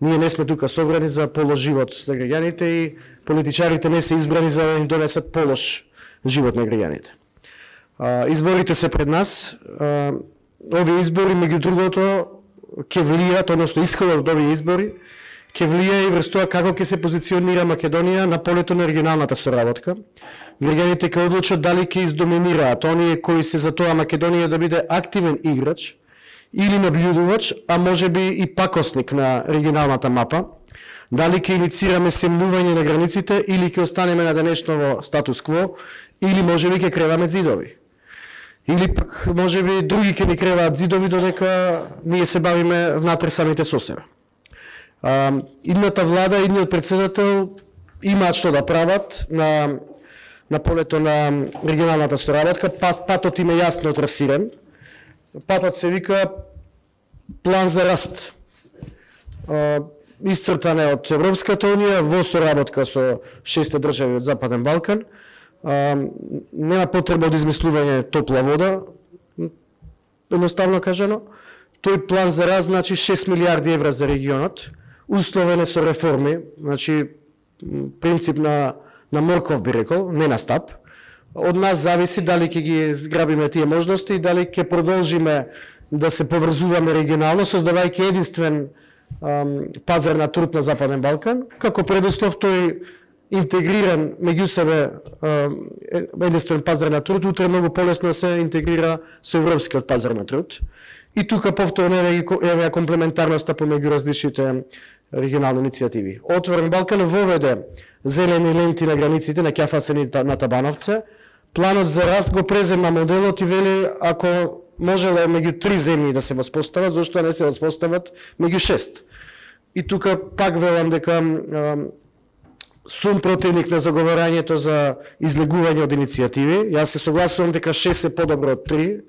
Ние не сме тука собрани за полош живот за граѓаните и политичарите не се избрани за да им донесат полош живот на граѓаните. Изборите се пред нас. Овие избори, меѓу другото, ќе влијат, односно исходот од овие избори, ќе влијае и врз тоа како ќе се позиционира Македонија на полето на регионалната соработка. Граѓаните ќе одлучат дали ќе издоминираат оние кои се за тоа Македонија да биде активен играч или наблюдувач, а може би и пакосник на регионалната мапа, дали ќе иницираме семнување на границите или ќе останеме на денешново статус-кво, или може би ќе креваме ѕидови. Или пак може би други ќе ни креваат ѕидови додека ние се бавиме внатре самите со себе. Идната влада, идниот председател имаат што да прават на полето на регионалната соработка. Патот им е јасно трасиран. Патот се вика план за раст. Исцртан е од Европската Унија во соработка со 6 држави од Западен Балкан. Нема потреба од измислување топла вода, едноставно кажано. Тој план за раст значи 6 милиарди евра за регионот, условен е со реформи, значи принцип на морков би рекол, не на стап. Од нас зависи дали ќе ги зграбиме тие можности и дали ќе продолжиме да се поврзуваме регионално, создавајќи единствен пазар на труд на Западен Балкан, како предуслов тој интегриран меѓу себе единствен пазар на труд, утре многу полесно се интегрира со европскиот пазар на труд. И тука повторно еве комплементарноста помеѓу различните регионални иницијативи. Отворен Балкан воведе зелени ленти на границите на Ќафасен и на Табановце. Планот за раст го презема моделот и вели ако можело меѓу 3 земји да се воспостават, зашто не се воспостават меѓу 6. И тука пак велам дека сум противник на заговарањето за излегување од иницијативи. Јас се согласувам дека 6 е подобро од 3,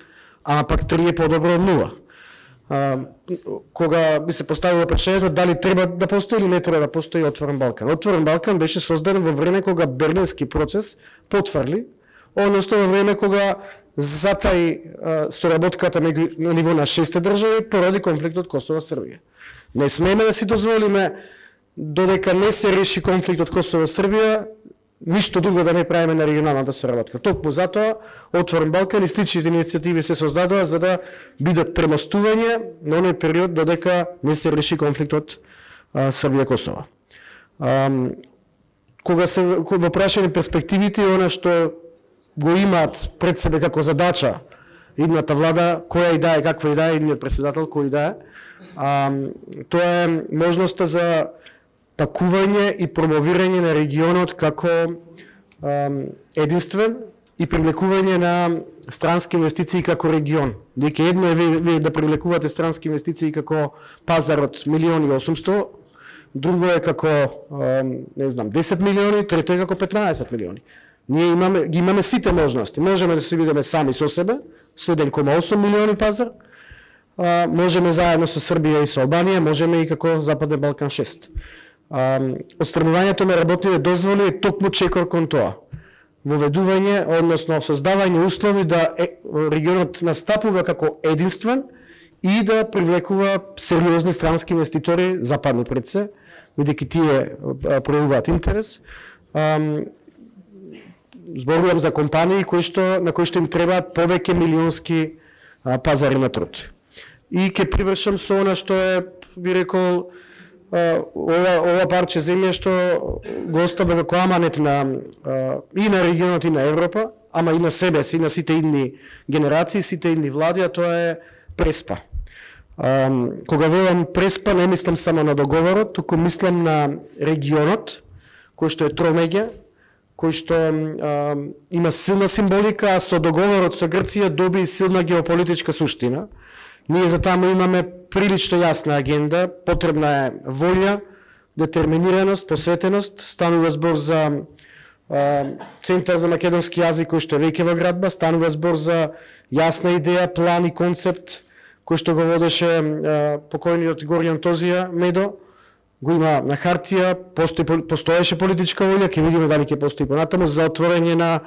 ама пак 3 е подобро од 0. Кога би се поставило прашањето дали треба да постои или не треба да постои Отворен Балкан. Отворен Балкан беше создаден во време кога Берлински процес потврди, односно во време кога затаи соработката на ниво на 6 држави поради конфликтот Косово-Србија. Не смееме да си дозволиме додека не се реши конфликтот Косово-Србија, ништо друго да не правиме на регионалната соработка. Токму затоа Отворен Балкан и сличните иницијативи се создадоа за да бидат премостување на оној период додека не се реши конфликтот Србија-Косово. кога се во прашање перспективите и она што го имаат пред себе како задача идната влада, која и да е, каква и да е, идниот председател, кој и да е, тоа е можноста за пакување и промовирање на регионот како единствен и привлекување на странски инвестиции како регион. Дека едно е вие да привлекувате странски инвестиции како пазар од 1.800.000, друго е како, не знам, 10 милиони, трето е како 15 милиони. Ние ги имаме сите можности. Можеме да се видиме сами со себе, со 1,8 милиони пазар, можеме заедно со Србија и со Албанија, можеме и како Западен Балкан 6. Отстранувањето на работните дозволи е токму чекор кон тоа. Воведување, односно создавање услови да регионот настапува како единствен и да привлекува сериозни странски инвеститори, западни пред се, бидејќи тие проявуваат интерес. Зборувам за компании на кои што им требаат повеќе милионски пазари на труд. И ќе привршам со она што е, би рекол, ова парче земја што го оставя како аманет и на регионот и на Европа, ама и на себе си, на сите идни генерации, сите идни влади, а тоа е Преспа. Кога велам Преспа, не мислам само на договорот, туку мислам на регионот, кој што е тромеѓа, кој што има силна символика, а со договорот со Грција доби и силна геополитичка суштина. Ние за таму имаме прилично јасна агенда, потребна е волја, детерминираност, посветеност, станува збор за Центар за македонски јазик кој што е веќе во градба, станува збор за јасна идеја, план и концепт кој што го водеше покојниот Горјан Тозија Медо, го има на хартија, постоеше политичка волја, ќе видиме дали ќе постои понатаму за отворање на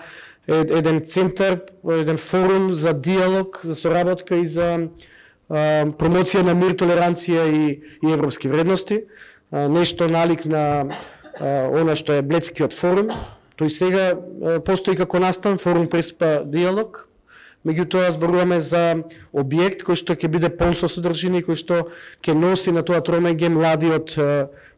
еден центар, еден форум за диалог, за соработка и за промоција на мир, толеранција и европски вредности, нешто налик на она што е Бледскиот форум. Тој сега постои како настан форум Преспа диалог. Меѓутоа зборуваме за објект кој што ќе биде полн со содржина и кој што ќе носи на тоа тромеѓе млади од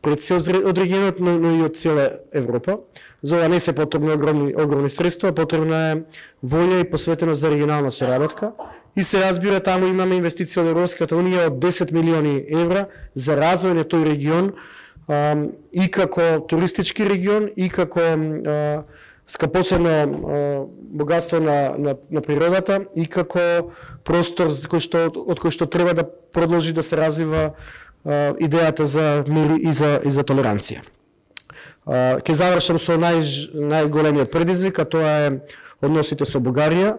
пред се од регионот, но и од цела Европа. За ова не се потребни огромни средства, потребна е волја и посветеност за регионална соработка. И се разбира, таму имаме инвестиција од Европската унија од 10 милиони евра за развој на тој регион и како туристички регион и како скапоцено богатство на природата и како простор од кој што треба да продолжи да се развива идејата за мир и за толеранција. Ке завршам со најголемиот предизвик, а тоа е односите со Бугарија,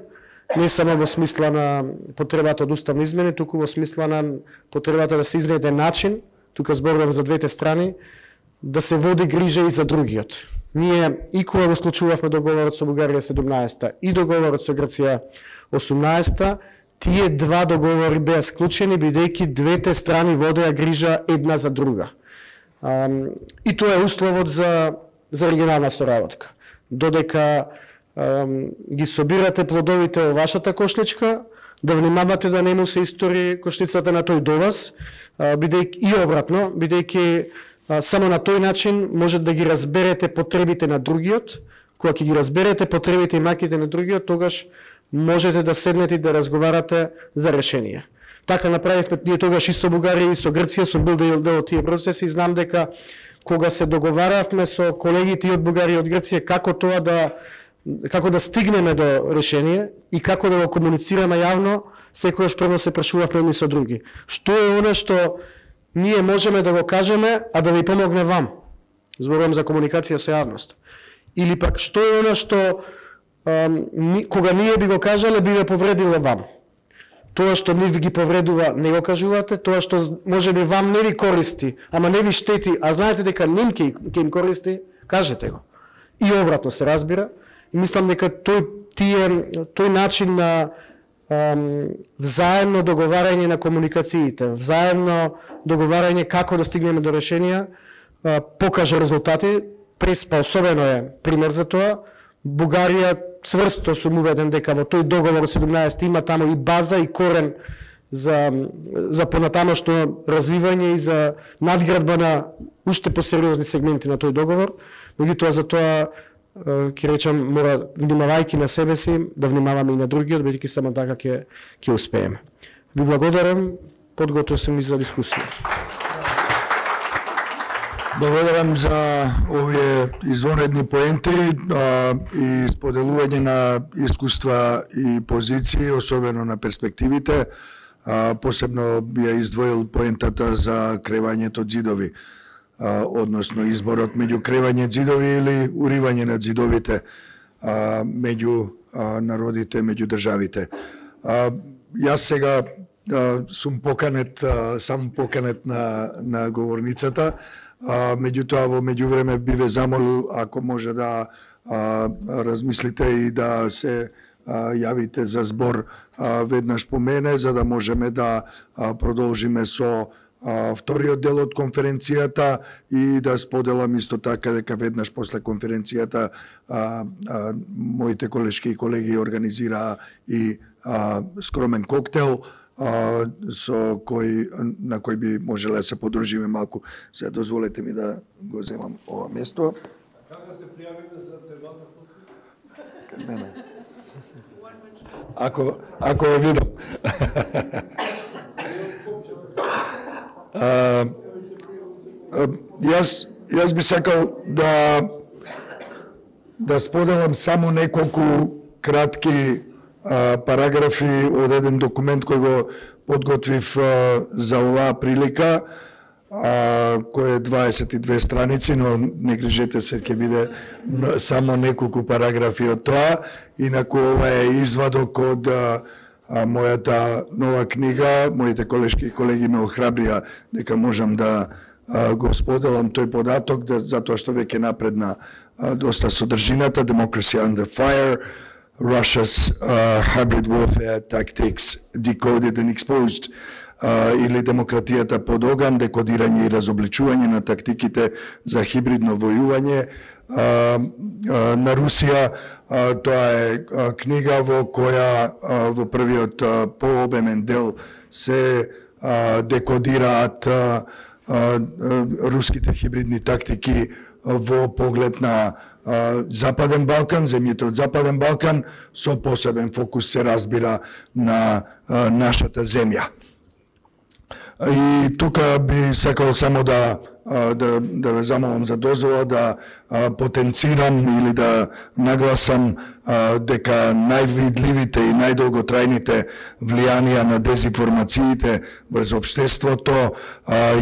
не само во смисла на потребата од уставни измени, туку во смисла на потребата да се изнајде начин, тука зборувам за двете страни, да се води грижа и за другиот. Ние и кога го склучувавме договорот со Бугарија 17-та и договорот со Грција 18-та, тие два договори беа склучени бидејќи двете страни водеа грижа една за друга. И тоа е условот за регионална соработка. Додека ги собирате плодовите во вашата кошличка, да внимавате да не му се истори кошлицата на тој до вас, и обратно, бидејќи само на тој начин може да ги разберете потребите на другиот. Кога ќе ги разберете потребите и маките на другиот, тогаш можете да седнете и да разговарате за решение. Така направивме ние тогаш и со Бугарија и со Грција, сум бил дел од тие процеси и знам дека кога се договаравме со колегите и од Бугарија и од Грција како да стигнеме до решение и како да го комуницираме јавно, секогаш прво се прашувавме едни со други. Што е она што ние можеме да го кажеме, а да ви помогне вам? Зборувам за комуникација со јавност. Или пак што е она што кога ние би го кажале, би ве повредило вам? Тоа што не ви ги повредува, не го кажувате, тоа што може би вам не ви користи, ама не ви штети, а знаете дека ним ќе им користи, кажете го. И обратно се разбира. И мислам дека тој начин на взаемно договарање на комуникациите, взаемно договарање како да стигнеме до решенија, покажа резултати. Преспа особено е пример за тоа. Бугарија цврсто сум убеден дека во тој договор од 17 има таму и база и корен за понатамошно развивање и за надградба на уште посериозни сегменти на тој договор, меѓутоа за тоа ќе речам, мора, внимавајќи на себе си, да внимаваме и на другиот, бидејќи само така ќе успееме. Ви благодарам, подготов сум и за дискусија. Благодарам за овие извонредни поенти и споделување на искуства и позиции, особено на перспективите. Посебно би ја издвоил поентата за кревањето ѕидови, односно изборот меѓу кревање ѕидови или уривање на ѕидовите меѓу народите, меѓу државите. Јас сега сум поканет, сам поканет на говорницата, меѓутоа во меѓувреме би ве замолил ако може да размислите и да се јавите за збор веднаш по мене, за да можеме да продолжиме со вториот дел од конференцијата и да споделам исто така дека веднаш после конференцијата моите колешки и колеги организираа и скромен коктел на кој би можеле да се подружиме малку. Се дозволете ми да го земам ова место. Како се пријавите за темата? Кај мене. Ако го видам. Јас би сакал да споделам само неколку кратки параграфи од еден документ кој го подготвив за оваа прилика, кој е 22 страници, но не грижете се, ќе биде само неколку параграфи од тоа. Инаку ова е извадок од мојата нова книга. Моите колешки и колеги ме охрабрија дека можам да го споделам тој податок, затоа што веќе напредна доста содржината. Democracy Under Fire, Russia's Hybrid Warfare Tactics Decoded and Exposed, или демократијата под оган, декодирање и разобличување на тактиките за хибридно војување на Русија. Тоа е книга во која во првиот пообемен дел се декодираат руските хибридни тактики во поглед на Западен Балкан, земјите од Западен Балкан, со посебен фокус се разбира на нашата земја. И тука би сакал само да ве замолам за дозвола да потенцирам или да нагласам дека највидливите и најдолготрајните влијанија на дезинформациите врз општеството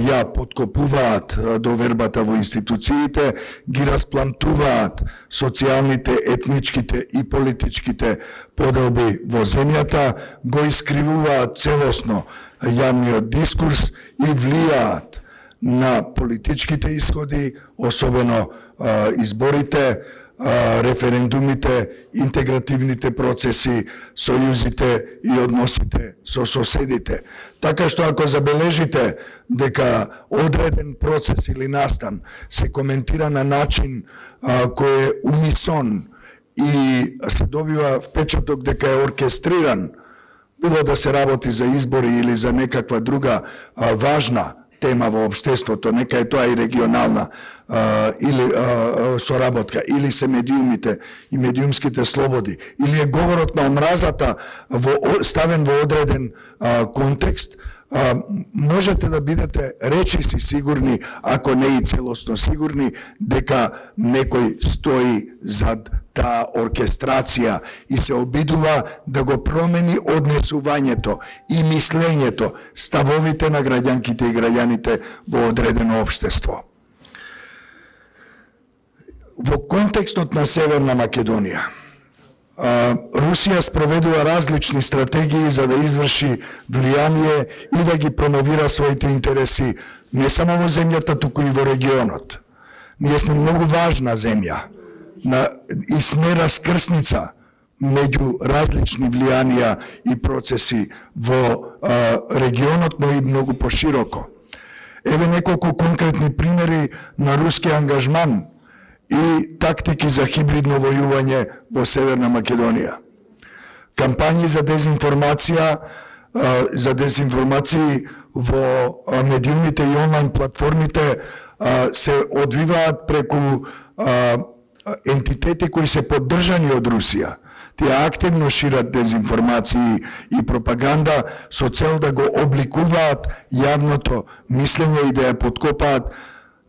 ја подкопуваат довербата во институциите, ги расплантуваат социјалните, етничките и политичките поделби во земјата, го искривуваат целосно јавниот дискурс и влијаат на политичките исходи, особено изборите, референдумите, интегративните процеси, сојузите и односите со соседите. Така што ако забележите дека одреден процес или настан се коментира на начин кој е унисон и се добива впечаток дека е оркестриран, било да се работи за избори или за некаква друга важна тема во општеството, нека е тоа и регионална или соработка, или се медиумите и медиумските слободи, или е говорот на омразата ставен во одреден контекст, можете да бидете речиси сигурни, ако не и целосно сигурни, дека некој стои зад таа оркестрација и се обидува да го промени однесувањето и мислењето, ставовите на граѓанките и граѓаните во одредено општество. Во контекстот на Северна Македонија, Русија спроведува различни стратегии за да изврши влијание и да ги промовира своите интереси не само во земјата, туку и во регионот. Ние сме многу важна земја и сме раскрсница меѓу различни влијанија и процеси во регионот, но и многу пошироко. Еве неколку конкретни примери на руски ангажман и тактики за хибридно војување во Северна Македонија. Кампањи за дезинформација за дезинформации во медиумите и онлайн платформите се одвиваат преку ентитети кои се поддржани од Русија. Тие активно шират дезинформации и пропаганда со цел да го обликуваат јавното мислење и да ја подкопаат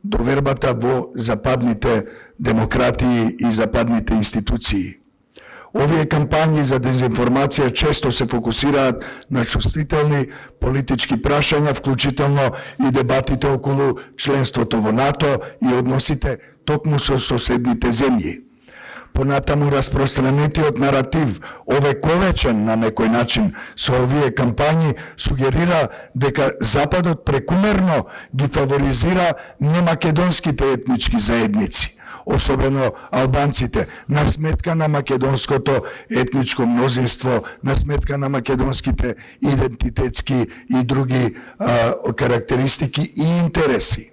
довербата во западните демократии и западните институции. Овие кампањи за дезинформација често се фокусираат на чувствителни политички прашања, вклучително и дебатите околу членството во НАТО и односите токму со соседните земји. Понатаму распространетиот наратив, овековечен на некој начин со овие кампањи, сугерира дека Западот прекумерно ги фаворизира немакедонските етнички заедници, особено албанците, на сметка на македонското етничко мнозинство, на сметка на македонските идентитетски и други карактеристики и интереси.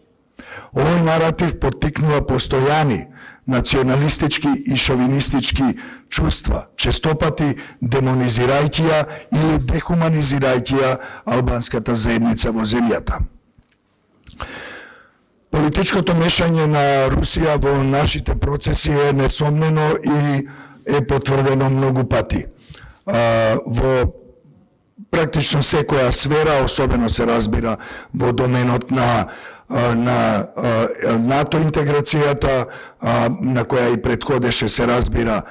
Овој наратив поттикнува постојани националистички и шовинистички чувства, честопати демонизирајќи ја или дехуманизирајќи ја албанската заедница во земјата. Политичкото мешање на Русија во нашите процеси е несомнено и е потврдено многу пати. Во практично секоја сфера, особено се разбира во доменот на НАТО интеграцијата, на која и предходеше, се разбира,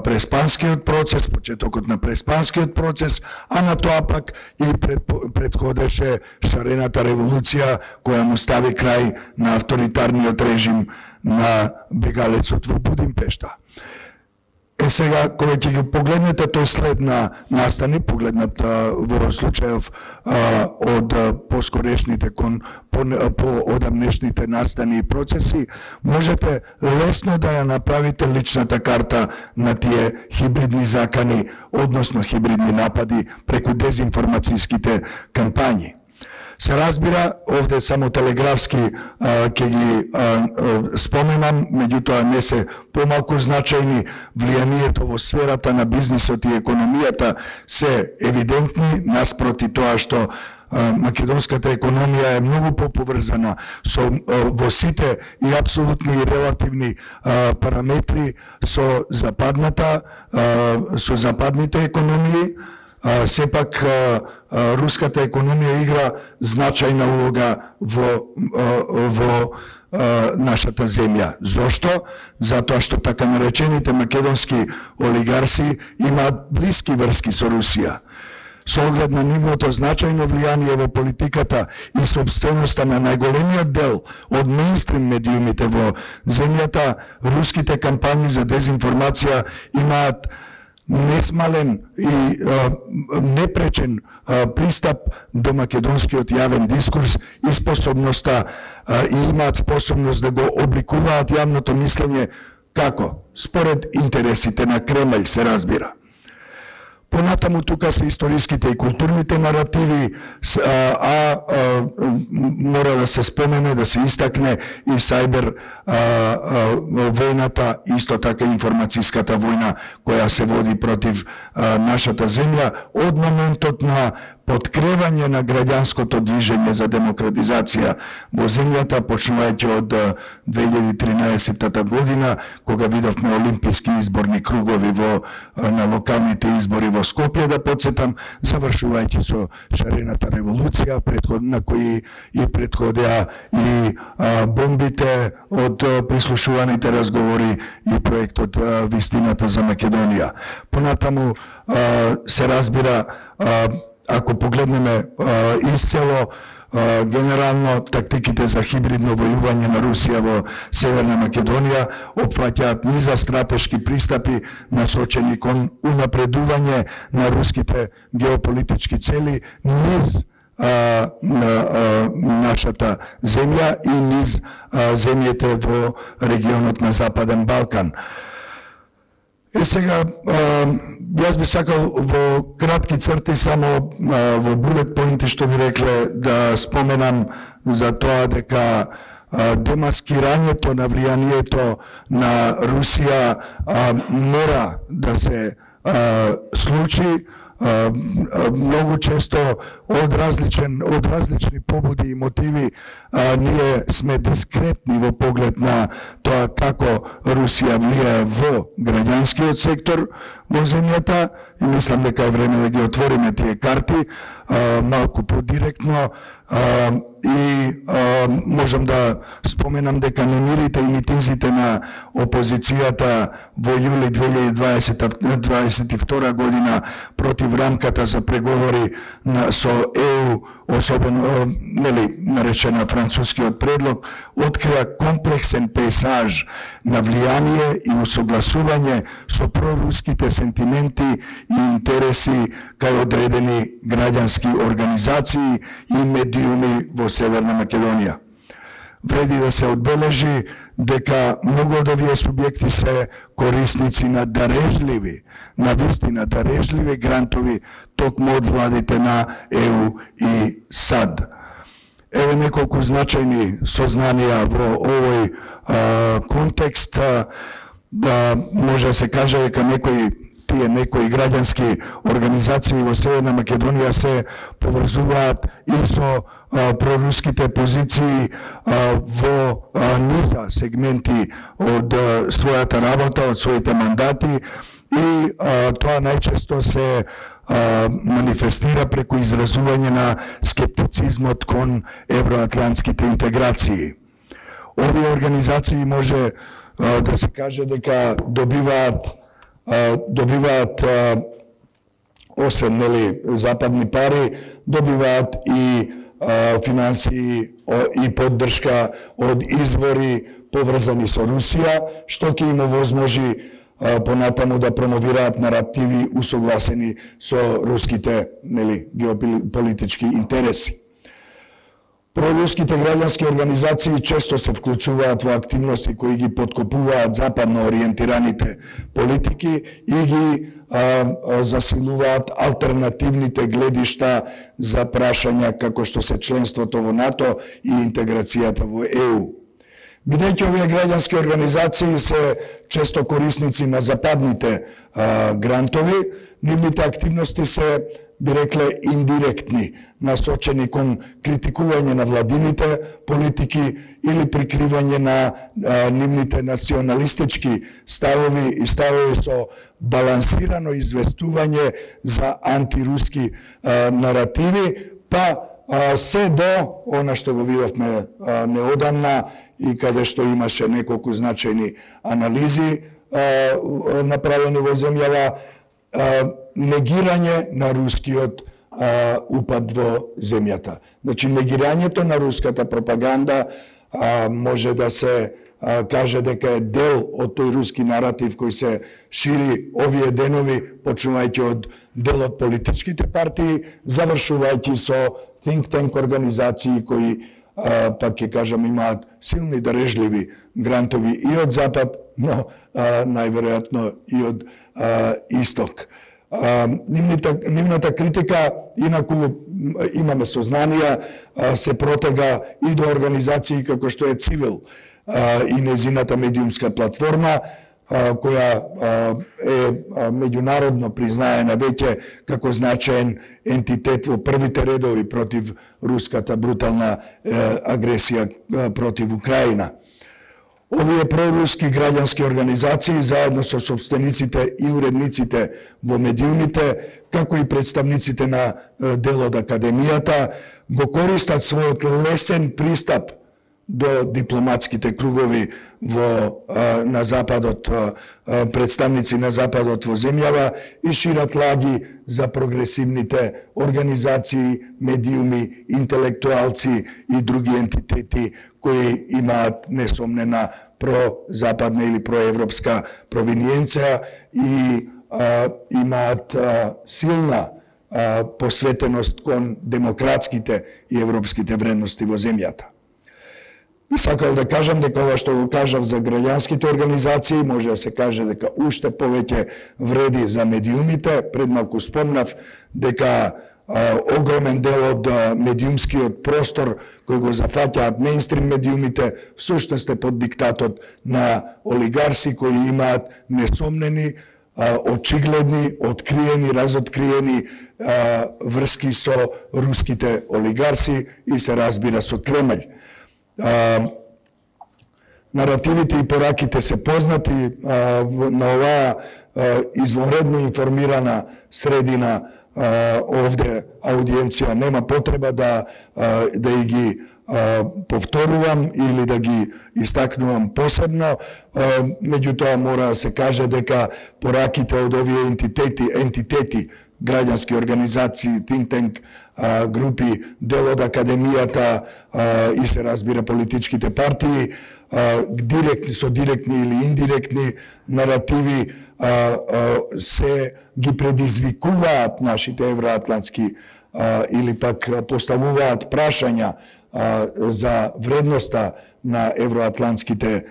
преспанскиот процес, почетокот на преспанскиот процес, а на тоа пак и предходеше шарената револуција која му стави крај на авторитарниот режим на бегалецот во Будимпешта. Сега, кога ќе ги погледнете тој след на настани, погледнат во случајов од поскорешните по одамнешните настани и процеси, можете лесно да ја направите личната карта на тие хибридни закани, односно хибридни напади преку дезинформацијските кампањи. Се разбира, овде само телеграфски ќе ги споменам, меѓутоа не се помалку значајни. Влијанието во сферата на бизнисот и економијата се евидентни, наспроти тоа што македонската економија е многу поповрзана во сите и апсолутни и релативни параметри со западните економии. Сепак руската економија игра значајна улога во нашата земја. Зошто? Затоа што така наречените македонски олигарси имаат блиски врски со Русија. Со оглед на нивното значајно влијание во политиката и собственоста на најголемиот дел од мејнстрим медиумите во земјата, руските кампањи за дезинформација имаат несмален и непречен пристап до македонскиот јавен дискурс и способноста и имаат способност да го обликуваат јавното мислење како? Според интересите на Кремљ, се разбира. Понатаму тука се историските и културните наративи, мора да се спомене, да се истакне и сајбер војната, исто така информацијската војна која се води против нашата земја од моментот на подкревање на граѓанското движење за демократизација во земјата, почнувајќи од 2013 година, кога видовме олимписки изборни кругови на локалните избори во Скопје, да подсетам, завршувајќи со шарената револуција, на кои и предходеа и бомбите од прислушуваните разговори и проектот Вистината за Македонија. Понатаму се разбира, ако погледнеме исцело, генерално тактиките за хибридно војување на Русија во Северна Македонија опфаќаат низа стратешки пристапи насочени кон унапредување на руските геополитички цели низ нашата земја и низ земјите во регионот на Западен Балкан. Сега, јас би сакал во кратки црти, само во булет поинти што би рекле, да споменам за тоа дека демаскирањето на влијанието на Русија мора да се случи многу често од различни побуди и мотиви ние сме дискретни во поглед на тоа како Русија влијае во граѓанскиот сектор во земјата и мислам дека е време да ги отвориме тие карти малку подиректно и можам да споменам дека немирите и митинзите на опозицијата во јули 2022 година против рамката за преговори со ЕУ, особено наречена францускиот предлог, открија комплексен пейсаж на влијание и усогласување со проруските сентименти и интереси кај одредени граѓански организации и медиуми во Северна Македонија. Вреди да се одбележи дека многу од овие субјекти се корисници на дарежливи, на вистина дарежливи грантови токму од владите на ЕУ и САД. Еве неколку значајни сознанија во овој контекст, да може да се каже дека некои граѓански организации во Северна Македонија се поврзуваат и со проруските позиции во низа сегменти од својата работа, од своите мандати и тоа најчесто се манифестира преку изразување на скептицизмот кон евроатлантските интеграции. Овие организации може да се каже дека добиваат освен западни пари, добиваат и финансии и поддршка од извори поврзани со Русија, што ќе им овозможи понатаму да промовираат наративи усогласени со руските геополитички интереси. Проруските граѓански организации често се вклучуваат во активности кои ги подкопуваат западно ориентираните политики и ги засилуваат алтернативните гледишта за прашања како што се членството во НАТО и интеграцијата во ЕУ. Бидејќи овие граѓански организации се често корисници на западните грантови, нивните активности се, би рекле, индиректни, насочени кон критикување на владините политики или прикривање на нивните националистички ставови и ставови со балансирано известување за антируски наративи, па се до она што го видовме неодамна и каде што имаше неколку значајни анализи направени во земјава, негирање на рускиот упад во земјата. Значи, негирањето на руската пропаганда може да се каже дека е дел од тој руски наратив кој се шири овие денови, почнувајќи од дел од политичките партии, завршувајќи со think tank организации кои, пак ќе кажам, имаат силни дарежливи грантови и од Запад, но најверојатно и од Исток. Нивната критика, инаку имаме сознанија, се протега и до организации како што е Цивил и незината медиумска платформа, која е меѓународно признаена веќе како значаен ентитет во првите редови против руската брутална агресија против Украина. Овие проруски граѓански организации, заедно со собствениците и уредниците во медиумите, како и представниците на дел од академијата, го користат својот лесен пристап до дипломатските кругови на Западот, представници на Западот во земјава и шират лаги за прогресивните организации, медиуми, интелектуалци и други ентитети кои имаат несомнена прозападна или проевропска провиниенција и имаат силна посветеност кон демократските и европските вредности во земјата. Сакал да кажам дека ова што го кажав за граѓанските организации, може да се каже дека уште повеќе вреди за медиумите. Пред малку спомнав дека огромен дел од медиумскиот простор кој го зафаќаат мејнстрим медиумите всушност е под диктатот на олигарси кои имаат несомнени очигледни, откриени, разоткриени врски со руските олигарси и се разбира со Кремљ. Наративите и пораките се познати на оваа извонредно информирана средина. Овде аудиенција нема потреба да ги повторувам или да ги истакнувам посебно, меѓутоа мора да се каже дека пораките од овие ентитети, граѓански организации, think tank групи, дел од академијата и се разбира политичките партии, со директни или индиректни наративи се ги предизвикуваат нашите евроатлантски или пак поставуваат прашања за вредноста на евроатлантските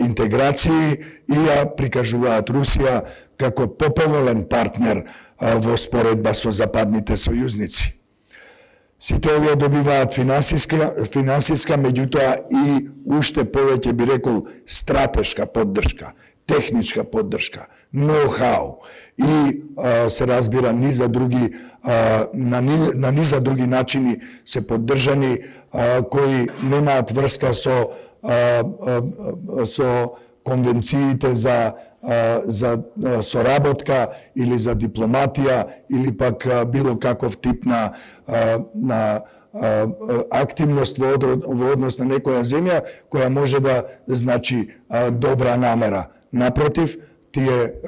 интеграции и ја прикажуваат Русија како поповолен партнер во споредба со западните сојузници. Сите овие добиваат финансиска, меѓутоа и уште повеќе би рекол стратешка поддршка, техничка поддршка, ноу-хау и се разбира низа други на низа други начини се поддржани кои немаат врска со конвенциите за соработка или за дипломатија или пак било каков тип на активност во однос на некоја земја која може да значи добра намера. Напротив,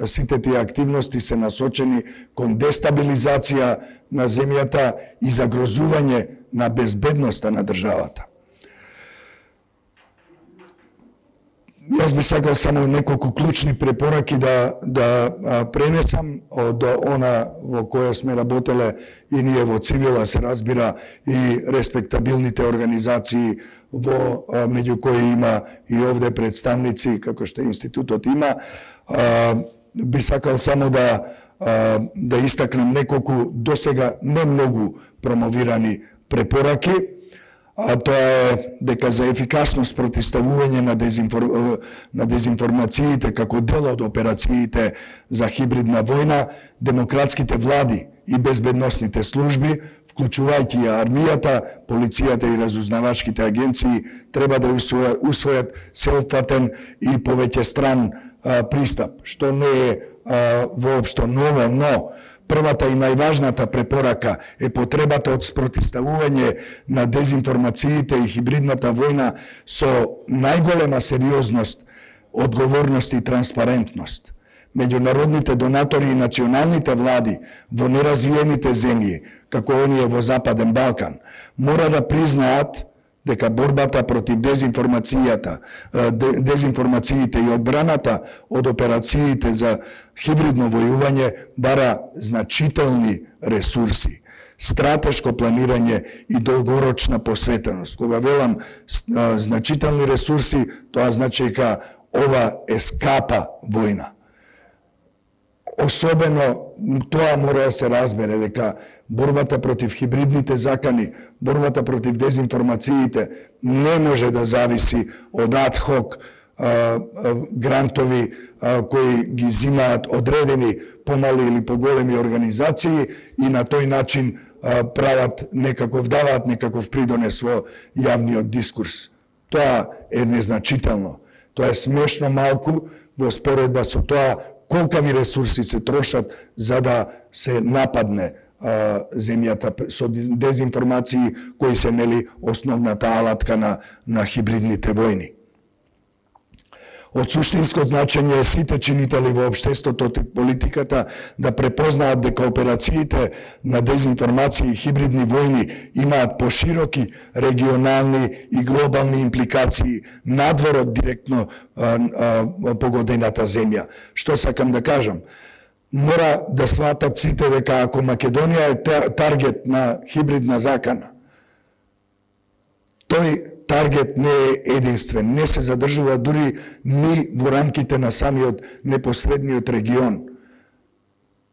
сите тие активности се насочени кон дестабилизација на земјата и загрозување на безбедноста на државата. Јас би сакал само неколку клучни препораки да пренесам од она во која сме работеле и ние во цивила, се разбира, и респектабилните организации меѓу кои има и овде представници, како што институтот има. Би сакал само да истакнем неколку досега не многу промовирани препораки. Тоа е дека за ефикасно спротивставување на дезинформациите како дел од операциите за хибридна војна, демократските влади и безбедносните служби, вклучувајќи ја армијата, полицијата и разузнавачките агенции, треба да усвојат сеопфатен и повеќе стран пристап, што не е воопшто ново, но првата и најважната препорака е потребата од спротивставување на дезинформациите и хибридната војна со најголема сериозност, одговорност и транспарентност. Меѓународните донатори и националните влади во неразвиените земји, како оние во Западен Балкан, мора да признаат дека борбата против дезинформациите и одбраната од операциите за хибридно војување бара значителни ресурси, стратешко планирање и долгорочна посветеност. Кога велам значителни ресурси, тоа значи дека ова е скапа војна. Особено тоа мора да се разбере дека борбата против хибридните закани, борбата против дезинформациите не може да зависи од адхок грантови кои ги зимаат одредени помали или поголеми организации и на тој начин даваат некаков придонес во јавниот дискурс. Тоа е незначително. Тоа е смешно малку во споредба со тоа колкави ресурси се трошат за да се нападне земјата со дезинформации кои се основната алатка на хибридните војни. Од суштинско значење е сите чинители во општеството и политиката да препознаат дека операциите на дезинформации и хибридни војни имаат пошироки регионални и глобални импликации надвор од директно погодената земја. Што сакам да кажам? Мора да сватат сите дека ако Македонија е таргет на хибридна закана, тој таргет не е единствен, не се задржува дури ни во рамките на самиот непосредниот регион.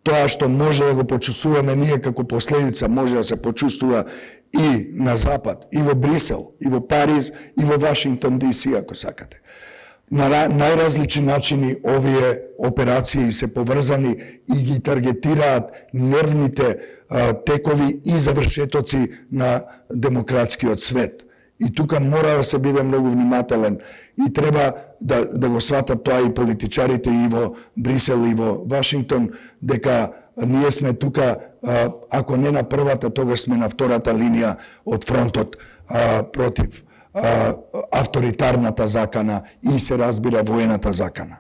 Тоа што може да го почувствуваме ние како последица, може да се почувствува и на Запад, и во Брисел, и во Париз, и во Вашингтон ДС, ако сакате. на најразлични начини овие операции се поврзани и ги таргетираат нервните текови и завршетоци на демократскиот свет. И тука мора да се биде многу внимателен и треба да го сватат тоа и политичарите и во Брисел и во Вашингтон, дека ние сме тука, ако не на првата, тогаш сме на втората линија од фронтот против авторитарната закана и се разбира воената закана.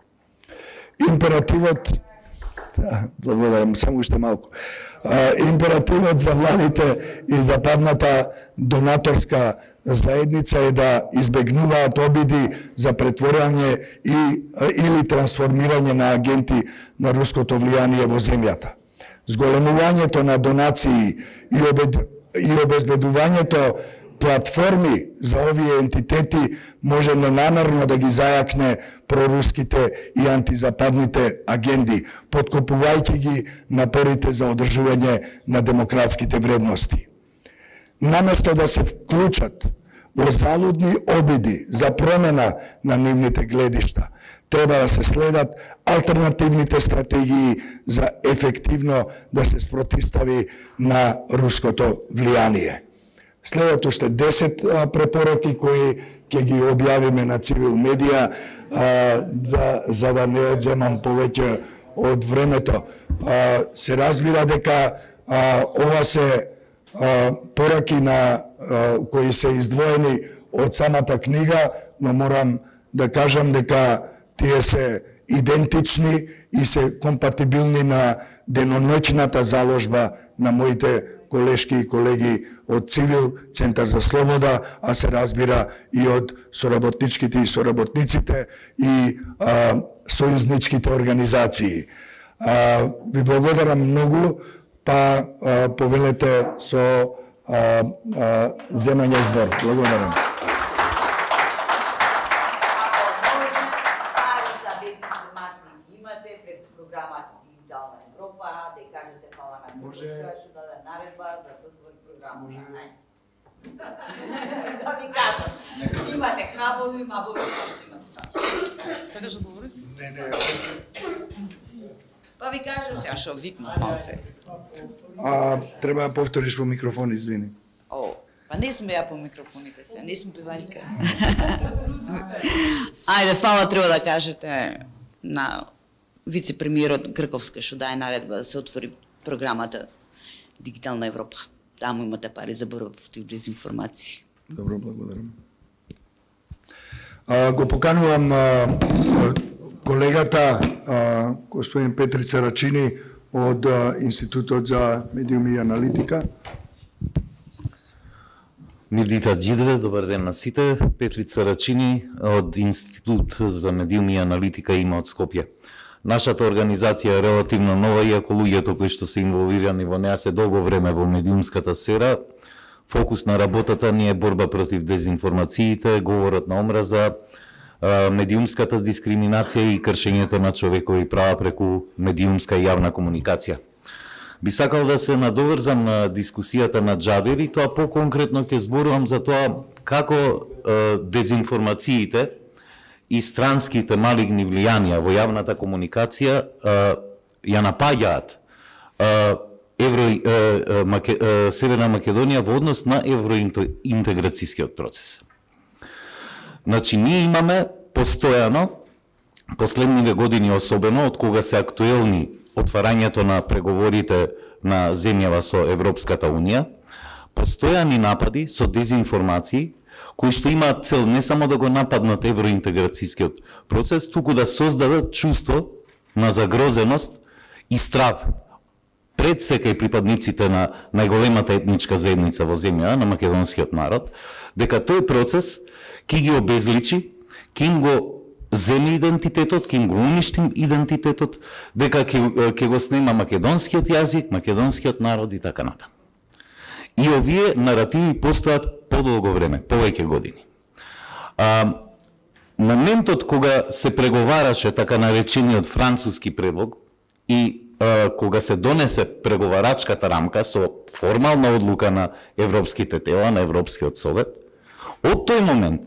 Императивот, благодарам, само уште малку, императивот за владите и западната донаторска заедница е да избегнуваат обиди за претворање или трансформирање на агенти на руското влијание во земјата. Зголемувањето на донации и обезбедувањето платформи за овие ентитети може ненамерно да ги зајакне проруските и антизападните агенди, подкопувајќи ги напорите за одржување на демократските вредности. Наместо да се вклучат во залудни обиди за промена на нивните гледишта, треба да се следат алтернативните стратегии за ефективно да се спротивстави на руското влијание. Следат уште 10 препораки кои ќе ги објавиме на Цивил медија за да не одземам повеќе од времето. Се разбира дека ова се пораки на кои се издвоени од самата книга, но морам да кажам дека тие се идентични и се компатибилни на деноноќната заложба на моите колешки и колеги од Цивил, Центар за слобода, а се разбира и од соработничките и соработниците и сојузничките организации. Ви благодарам многу, па повелете со земање збор. Благодарам. Да ви кажам, имате хабови, мабови, што имате. Сакаш да говорите? Не. Па ви кажам, сега што викнав малце. Треба да повториш во микрофон, извини. Па не сме ја по микрофоните се, не сме певајка. Ајде, фала треба да кажете на вице-премиерот Грковска што дај наредба да се отвори програмата Дигитална Европа. Таму имате пари за борба против дезинформации. Добро, благодарам. Го поканувам колегата господин Петрица Рачини од Институтот за медиуми и аналитика. Мирдита Джидре, добар ден на сите. Петрица Рачини од Институт за медиуми и аналитика има од Скопје. Нашата организација е релативно нова, иако луѓето кои што се инволвирани во неа се долго време во медиумската сфера. Фокус на работата ни е борба против дезинформациите, говорот на омраза, медиумската дискриминација и кршењето на човекови права преку медиумска и јавна комуникација. Би сакал да се надоврзам на дискусијата на Џабир и тоа по-конкретно ќе зборувам за тоа како дезинформациите и странските малигни влијанија во јавната комуникација ја напаѓаат Северна Македонија во однос на евроинтеграцијскиот процес. Значи, ние имаме постојано, последниве години особено, од кога се актуелни отварањето на преговорите на земјава со Европската Унија, постојани напади со дезинформации, кои што имаат цел не само да го нападнат евроинтеграцијскиот процес, туку да создадат чувство на загрозеност и страв пред секај припадниците на најголемата етничка заедница во земја, на македонскиот народ, дека тој процес ќе ги обезличи, ќе им го земе идентитетот, ќе им го уништи идентитетот, дека ќе го снема македонскиот јазик, македонскиот народ и така натаму. И овие наративи постојат подолго време, повеќе години. Моментот кога се преговараше така наречениот француски предлог и кога се донесе преговарачката рамка со формална одлука на европските тела, на Европскиот совет, од тој момент,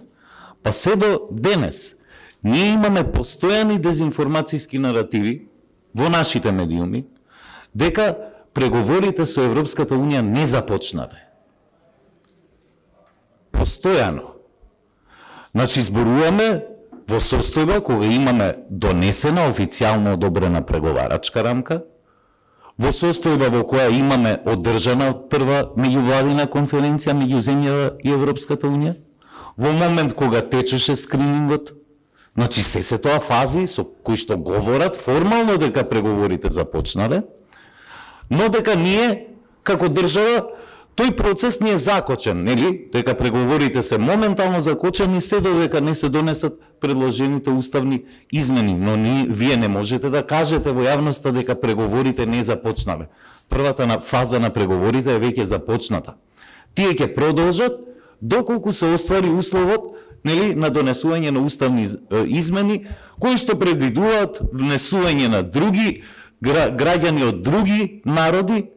па се до денес, Ние имаме постојани дезинформацијски наративи во нашите медиуми дека преговорите со Европската Унија не започнале. Постојано. Значи, зборуваме во состојба кога имаме донесена, официјално одобрена преговарачка рамка, во состојба во која имаме одржана прва меѓувладина конференција меѓу земјава и Европската Унија, во момент кога течеше скринингот, значи се тоа фази со кои што говорат формално дека преговорите започнале, но дека ние, како држава, тој процес не е закочен, нели? Дека преговорите се моментално закочени се додека не се донесат предложените уставни измени, но вие не можете да кажете во јавноста дека преговорите не започнале. Првата фаза на преговорите е веќе започната. Тие ќе продолжат доколку се оствари условот, нели, на донесување на уставни измени кои што предвидуваат внесување на други граѓани од други народи,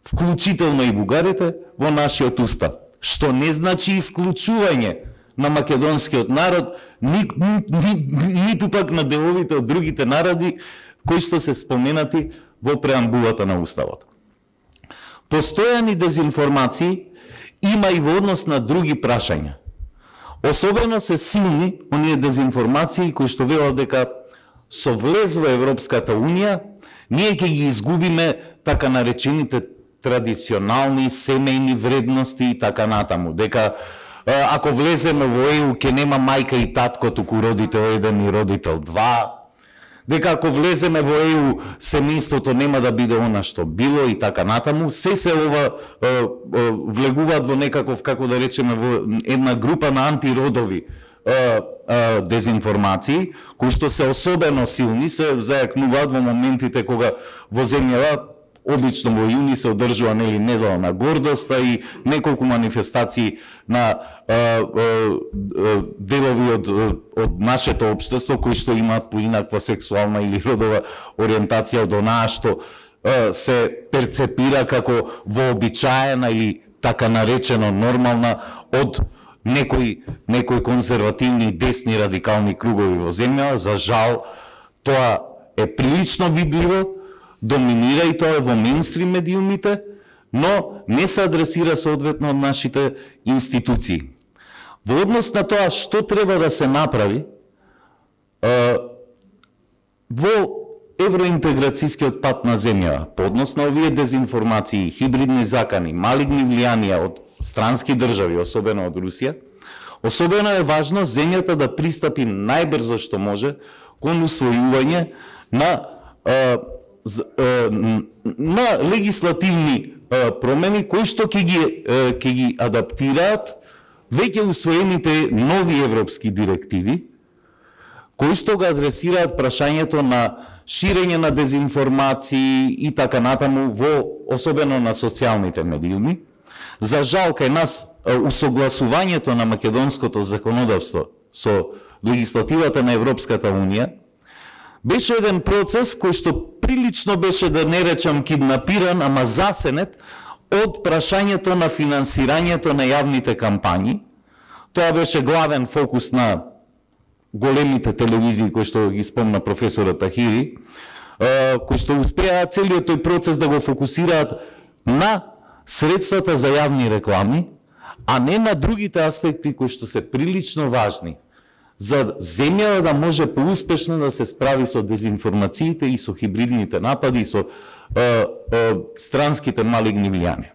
вклучително и бугарите, во нашиот устав. Што не значи исклучување на македонскиот народ, ниту пак на деловите од другите народи, кои што се споменати во преамбулата на уставот. Постојани дезинформации има и во однос на други прашања. Особено се силни оние дезинформации кои што велат дека со влез во Европската Унија ние ќе ги изгубиме така наречените традиционални семејни вредности и така натаму. Дека ако влеземе во ЕУ ќе нема мајка и татко, туку родител 1 и родител 2. Дека ако влеземе во ЕУ семејството нема да биде она што било и така натаму. Се ова влегуваат во некаков, како да речеме, во една група на антиродови дезинформации, кои што се особено силни, се зајакнуваат во моментите кога во земјава обично во јуни се одржува недела на гордоста и неколку манифестации на делови од нашето општество кои што имаат поинаква сексуална или родова ориентација од онаа што се перцепира како вообичаена или така наречено нормална од некои конзервативни десни радикални кругови во земја. За жал, тоа е прилично видливо, доминира и тоа во мејнстрим медиумите, но не се адресира соодветно од нашите институции. Во однос на тоа што треба да се направи во евроинтеграцијскиот пат на земјава, по однос на овие дезинформации, хибридни закани, малигни влијанија од странски држави, особено од Русија, особено е важно земјата да пристапи најбрзо што може кон усвојување на легислативни промени кои што ќе ги адаптираат веќе усвоените нови европски директиви, кои што го адресираат прашањето на ширење на дезинформации и така натаму особено на социјалните медиуми. За жал, кај нас усогласувањето на македонското законодавство со легислативата на Европската Унија беше еден процес кој што прилично беше, да не речам киднапиран, ама засенет од прашањето на финансирањето на јавните кампањи. Тоа беше главен фокус на големите телевизии кои што ги спомна професорот Тахири, кои што успеа целиот тој процес да го фокусираат на средствата за јавни реклами, а не на другите аспекти кои што се прилично важни за земјава да може поуспешно да се справи со дезинформациите и со хибридните напади и со странските малигни влијанија.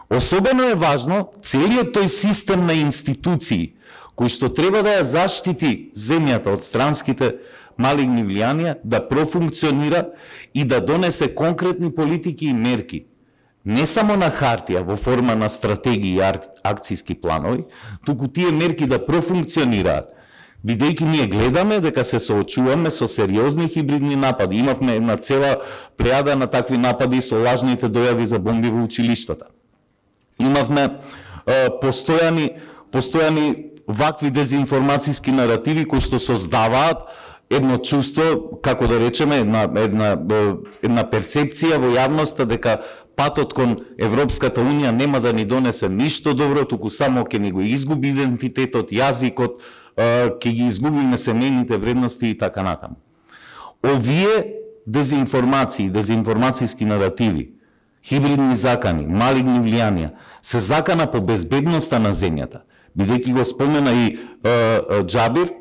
Особено е важно целиот тој систем на институции кои што треба да ја заштити земјата од странските малигни влијанија да профункционира и да донесе конкретни политики и мерки, не само на хартија во форма на стратегии и акцијски планови, туку тие мерки да профункционираат. Бидејќи ние гледаме дека се соочуваме со сериозни хибридни напади. Имавме една цела плејада на такви напади со лажните дојави за бомби во училиштата. Имавме постојани вакви дезинформацијски наративи кои што создаваат едно чувство, како да речеме, една перцепција во јавноста дека патот кон Европската Унија нема да ни донесе ништо добро, туку само ќе ни го изгуби идентитетот, јазикот, ќе ги изгубиме семејните вредности и така натаму. Овие дезинформации, дезинформацијски наративи, хибридни закани, малигни влијанија, се закана по безбедноста на земјата. Бидејќи го спомена и Џабир,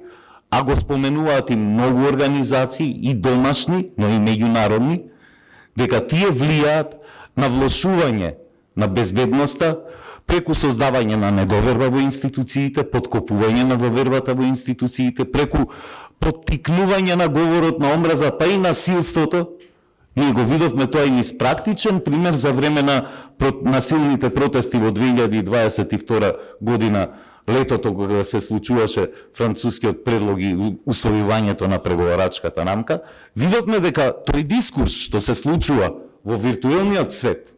а го споменуваат и многу организации, и домашни, но и меѓународни, дека тие влијаат на влошување на безбедноста, преку создавање на недоверба во институциите, подкопување на довербата во институциите, преку поттикнување на говорот на омраза, па и насилството. Ние го видовме тоа и низ практичен пример за време на насилните протести во 2022 година, летото кога се случуваше францускиот предлог и усвојувањето на преговарачката рамка. Видовме дека тој дискурс што се случува во виртуелниот свет,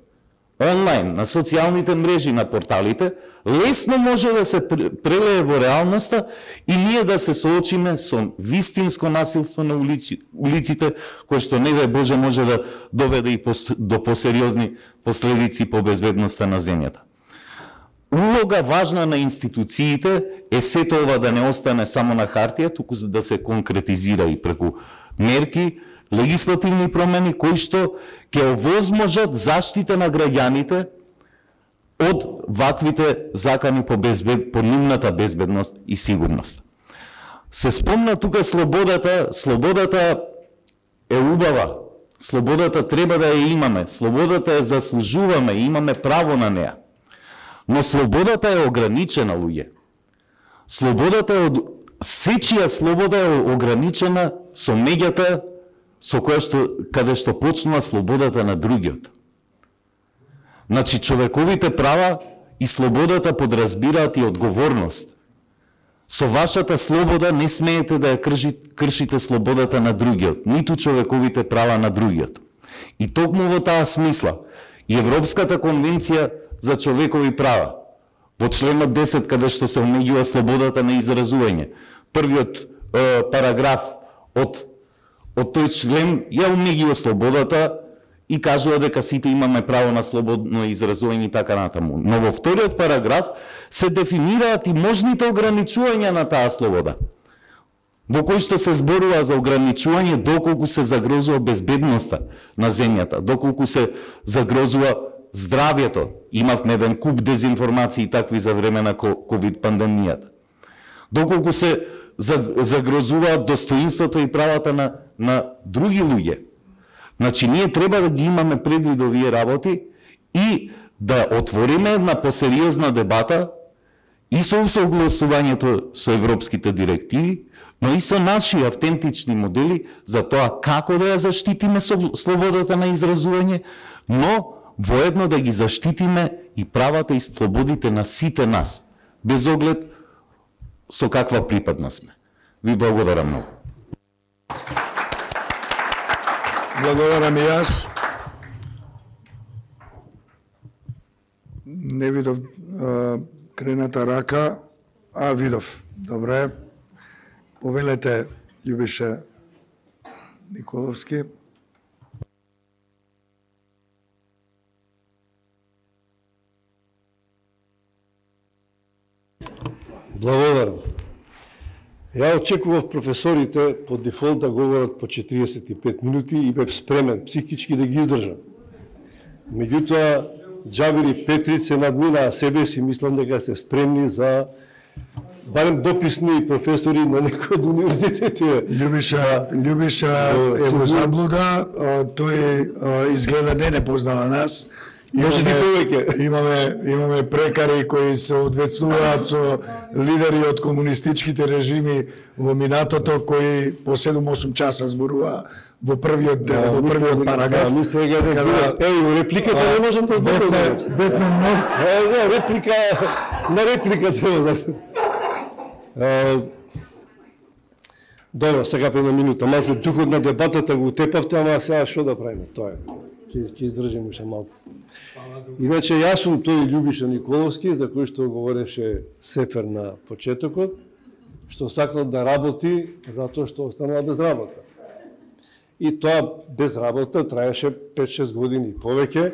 онлайн, на социјалните мрежи, на порталите, лесно може да се прелее во реалноста и ние да се соочиме со вистинско насилство на улиците, кое што не дај Боже може да доведе и до посериозни последици по безбедноста на земјата. Улога важна на институциите е сето ова да не остане само на хартија, туку да се конкретизира и преку мерки, легислативни промени кои што ќе овозможат заштита на граѓаните од ваквите закани по нивната безбедност и сигурност. Се спомна тука слободата. Слободата е убава. Слободата треба да ја имаме. Слободата ја заслужуваме и имаме право на неа. Но слободата е ограничена, луѓе. Слободата е сечија слобода е ограничена со меѓата со каде што почнува слободата на другиот. Значи, човековите права и слободата подразбираат и одговорност. Со вашата слобода не смеете да ја кршите слободата на другиот, ниту човековите права на другиот. И токму во таа смисла, и Европската конвенција за човекови права, во членот 10, каде што се омеѓува слободата на изразување, првиот параграф од тој член ја омеѓува слободата и кажува дека сите имаме право на слободно изразување и така натаму. Но во вториот параграф се дефинираат и можните ограничувања на таа слобода, во кој што се зборува за ограничување доколку се загрозува безбедноста на земјата, доколку се загрозува здравјето. Имавме еден куп дезинформации такви за време на ковид пандемијата. Доколку се загрозуваат достоинството и правата на други луѓе. Значи, ние треба да ги имаме предвид овие работи и да отвориме една посериозна дебата и со усогласувањето со европските директиви, но и со наши автентични модели за тоа како да ја заштитиме слободата на изразување, но воедно да ги заштитиме и правата и слободите на сите нас, без оглед со каква припадност сме. Ви благодарам многу. Благодарам и јас. Не видов крената рака, а видов. Добре. Повелете, Љубиша Николовски. Благодарам. Ја очекував професорите по дефолт да говорат по 45 минути и бев спремен психички да ги издржам. Меѓутоа, Џабир и Петрич се надминаа себе си, мислам дека се спремни за барем дописни професори на некој од универзитетите. Љубиша е во заблуда, тој изгледа не познава нас. Може да повеќе. Имаме прекари кои се одвецнуваат со лидери од комунистичките режими во минатото, кои по 7-8 часа зборува во првиот дел, во првиот параграф. Еј, репликата не можам да одборам. Бетме многу. Реплика треба да... Добро, сега по една минута. Малце духот на дебатата го утепавте, ама сега што да правиме? Тоа е. Ќе издржим уште малку. Иначе јас сум тој Љубиша Николовски, за кој што говореше Сефер на почетокот, што сакал да работи затоа што останала без работа. И тоа без работа траеше 5-6 години и повеќе.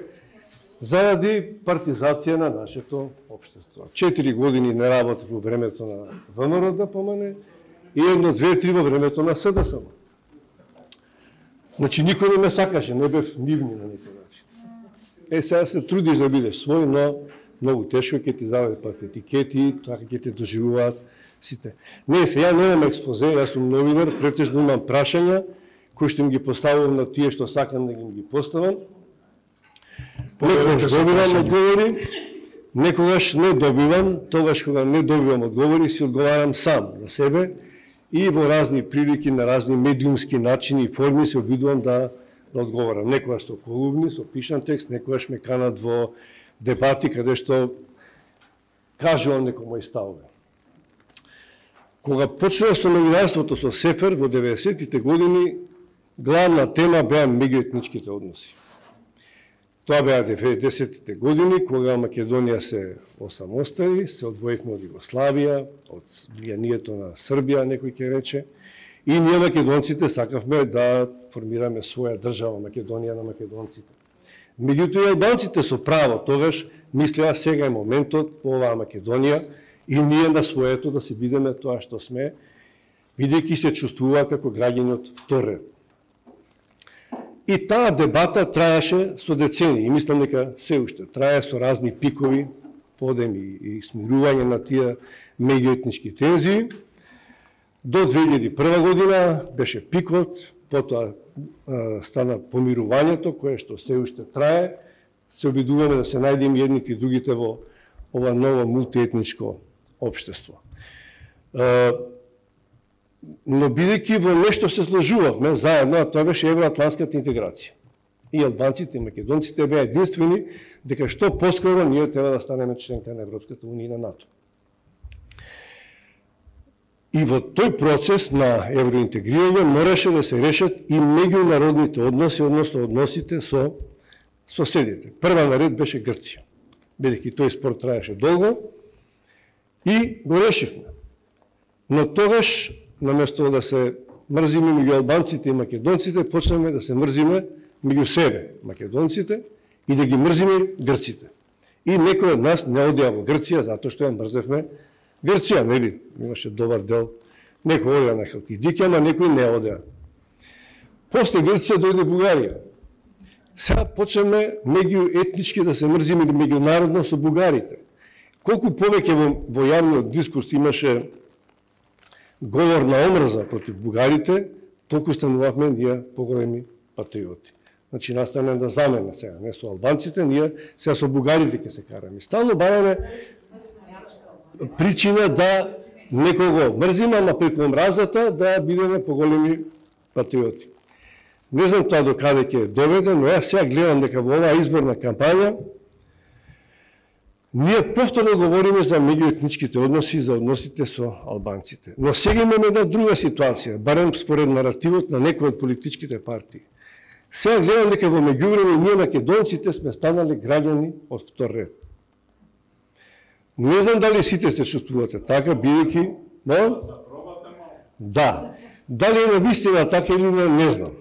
заради партизација на нашето општество. 4 години не работев во времето на ВМРО ДПМН и 1, 2, 3 во времето на СДСМ. Значи, никој не ме сакаше, не бев нивни на некој начин. Сега се трудиш да бидеш свој, но многу тешко ќе ти заведат етикети, така ќе те доживуваат сите. Не, ја немам експозе, јас сум новинар, претежно имам прашања, кои што им ги поставувам на тие што сакам да ги поставам. Некогаш добивам одговори, некогаш не добивам, тогаш кога не добивам одговори, си одговарам сам на себе и во разни прилики, на разни медиумски начини и форми се обидувам да одговорам. Некогаш со колумни, со пишан текст, некогаш ме канат во дебати каде што кажувам некој мој ставове. Кога почнав со новинарството со Сефер во 90-тите години, главна тема беа меѓуетничките односи. Тоа беа 90-тите години, кога Македонија се осамостали, се одвоивме од Југославија, од влијанието на Србија, некој ќе рече, и ние македонците сакавме да формираме своја држава, Македонија на македонците. Меѓутоа и албанците со право тогаш мислеа сега е моментот во оваа Македонија и ние на своето да се бидеме тоа што сме, бидејќи се чувствува како граѓани од втор ред. И таа дебата траеше со децени и мислам дека се уште трае со разни пикови, подеми и смирување на тие меѓуетнички тензии. До 2001 година беше пикот, потоа стана помирувањето, кое што се уште трае. Се обидуваме да се најдеме едните и другите во ова ново мултиетничко општество. Но бидејќи во нешто се сложувавме заедно, а тоа беше евроатлантската интеграција. И албанците и македонците беа единствени дека што поскоро ние треба да станеме членка на Европската унија и на НАТО. И во тој процес на евроинтегрирање мораше да се решат и меѓународните односи, односно односите со соседите. Прва наред беше Грција, бидејќи тој спор траеше долго и го решивме. Но тогаш, наместо да се мрзиме меѓу албанците и македонците, почнеме да се мрзиме меѓу себе, македонците, и да ги мрзиме грците. И некој од нас не одеа во Грција, затоа што ја мрзевме Грција, нели? Имаше добар дел. Некој одеа на Халкидики, ама некој не одеа. После Грција дојде Бугарија. Сега почнеме меѓуетнички да се мрзиме или меѓународно со бугарите. Колку повеќе во јавниот дискурс имаше говор на омрза против бугарите, толку станувавме ние поголеми патриоти. Значи, настане да замене сега, не со албанците, ние сега со бугарите ќе се караме. Стално бараме причина да некого мрзиме, ама преку омразата да бидеме поголеми патриоти. Не знам тоа до каде ќе доведе, но јас сега гледам дека во оваа изборна кампања ние повторно говориме за меѓуетничките односи, за односите со албанците. Но сега имаме една друга ситуација, барем според наративот на некои од политичките партии. Сега гледам дека во меѓувреме ние македонците сме станали граѓани од втор ред. Не знам дали сите се чувствувате така, бидејќи, но да. Дали е навистина така или не знам.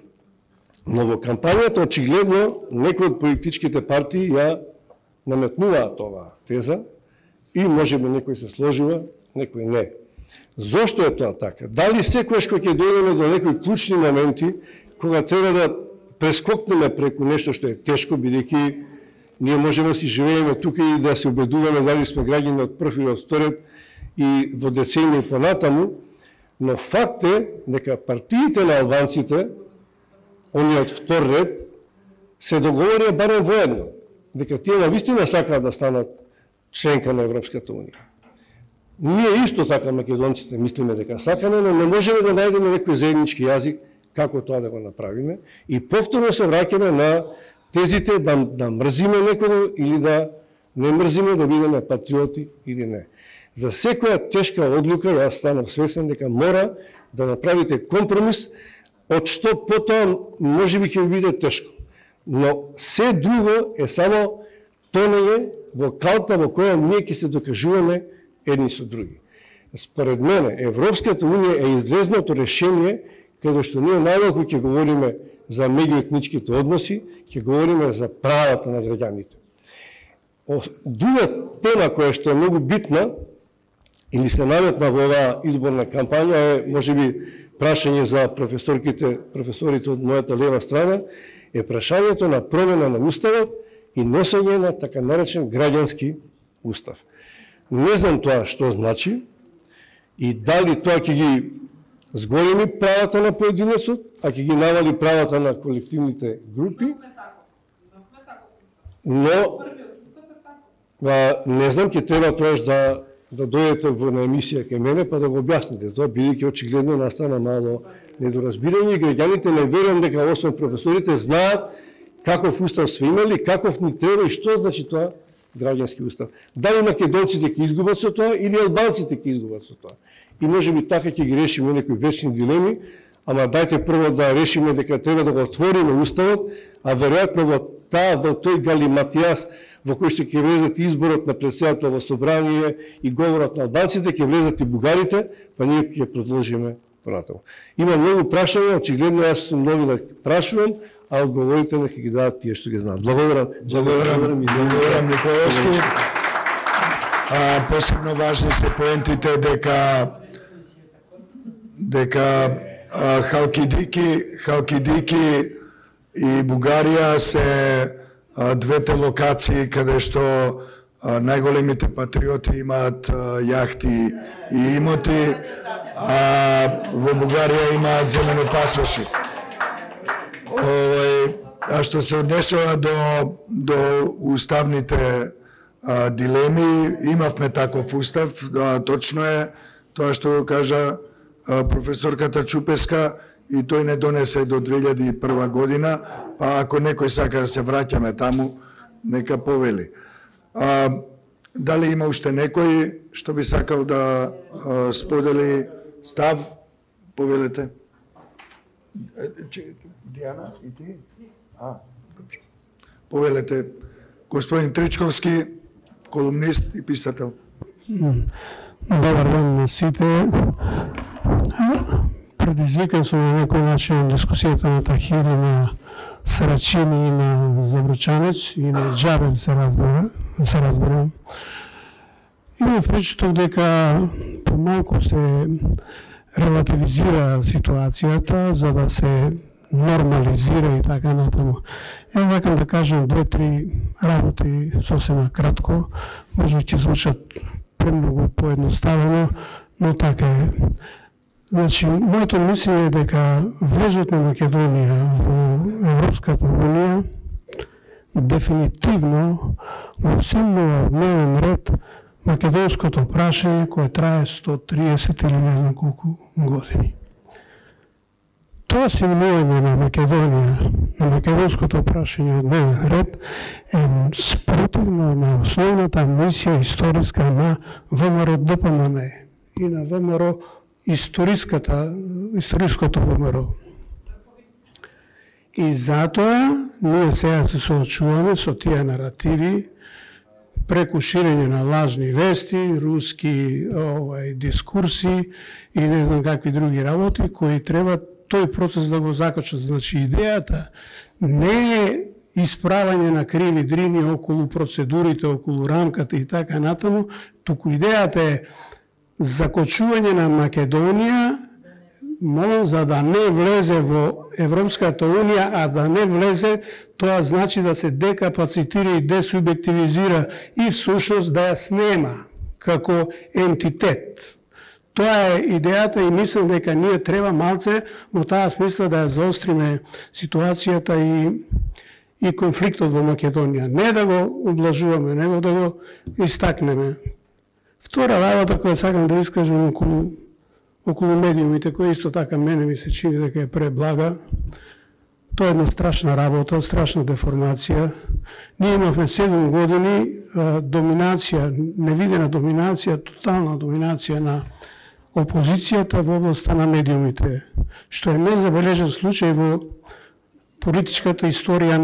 Но во кампањата очигледно некои од политичките партии ја наметнуваат оваа теза и можеби некој се сложува, некој не. Зошто е тоа така? Дали секојаш кога ќе дојдеме до некои клучни моменти, кога треба да прескокнеме преку нешто што е тешко, бидејќи ние можеме да си живееме тука и да се убедуваме дали сме граѓани од прв или од втор ред и во децении понатаму, но факт е дека партиите на албанците, оние од втор ред, се договорија барем воедно, дека тие навистина сакаат да станат членка на Европската унија. Ние исто така македонците мислиме дека сакаме, но не можеме да најдеме некој заеднички јазик како тоа да го направиме и повторно се враќаме на тезите да мрзиме некого или да не мрзиме, да бидеме патриоти или не. За секоја тешка одлука јас станав свесен дека мора да направите компромис, од што потоа можеби ќе биде тешко. Но се друго е само тонење во калта во која ние ќе се докажуваме едни со други. Според мене, Европската унија е излезното решение каде што ние најмалку ќе говориме за меѓуетничките односи, ќе говориме за правата на граѓаните. Друга тема која што е многу битна или се наметна во оваа изборна кампања е можеби прашање за професорите од мојата лева страна, е прашањето на промена на уставот и носење на така наречен граѓански устав. Не знам тоа што значи и дали тоа ќе ги зголеми правата на поединецот, а ќе ги навали правата на колективните групи. Но не знам, ќе треба тоаш да дојдете на емисија кај мене па да го објасните тоа, бидејќи очигледно настана мало недоразбирање и граѓаните не верувам дека освен професорите знаат каков устав сме имали, каков ни треба и што значи тоа граѓански устав. Дали македонците ќе изгубат со тоа или албанците ќе изгубат со тоа. И можеби така ќе ги решиме некои вечни дилеми, ама дајте прво да решиме дека треба да го отвориме уставот, а веројатно во тој галиматијас во кој што ќе влезат изборот на претседател во собрание и говорот на албанците, ќе влезат и бугарите, па ние ќе продолжиме понатаму. Има многу прашања, очигледно јас сум нови да прашувам, а одговорите нека ги дадат тие што ги знаат. Благодарам. Благодарам Николовски. Посебно важни се поентите дека Халкидики и Бугарија се двете локации каде што најголемите патриоти имаат јахти и имоти, а во Бугарија имаат зелено пасоши. А што се однесува до уставните дилеми, имавме таков устав, точно е тоа што го кажа професорката Чупеска, и тој не донесе до 2001 година, па ако некој сака да се враќаме таму, нека повели. Дали има уште некој што би сакал да сподели став? Повелете. Диана и ти? Добре. Повелете. Господин Тричковски, колумнист и писател. Добар ден на сите. Предизвикан сум на некој начин дискусијата на Тахир и на Сарачини и на Забрачанец и на Джабел се разберам. Имам впечаток дека помалку се релативизира ситуацијата за да се нормализира и така натаму. Ја сакам да кажам две-три работи сосема кратко, може ќе звучат премногу поедноставено, но така е. Значи, моето мислење е дека влезот на Македонија во Европската унија дефинитивно го симнува дневен ред македонското прашање кое трае 130 или не знам колку години. Тоа симнување на Македонија, на македонското прашање дневен ред е спротивно на основната мисија историска на ВМРО ДПМН и на ВМРО историското ВМРО. И затоа ние сега се соочуваме со тие наративи преку ширење на лажни вести, руски дискурси и не знам какви други работи кои треба тој процес да го закачат. Значи идејата не е исправање на криви дрини околу процедурите, околу рамката и така натаму, туку идејата е закочување на Македонија, за да не влезе во Европската унија, а да не влезе, тоа значи да се декапацитира и десубјективизира и всушност да ја снема како ентитет. Тоа е идејата и мислам дека ние треба малце во таа смисла да ја заостриме ситуацијата и конфликтот во Македонија. Не да го облажуваме, него да го истакнеме. Втора работа која сакам да искажам околу медиумите, која исто така мене ми се чини дека е преблага, тоа е една страшна работа, страшна деформација. Ние имавме 7 години доминација, невидена доминација, тотална доминација на опозицијата во областта на медиумите, што е незабележен случај во политичката историја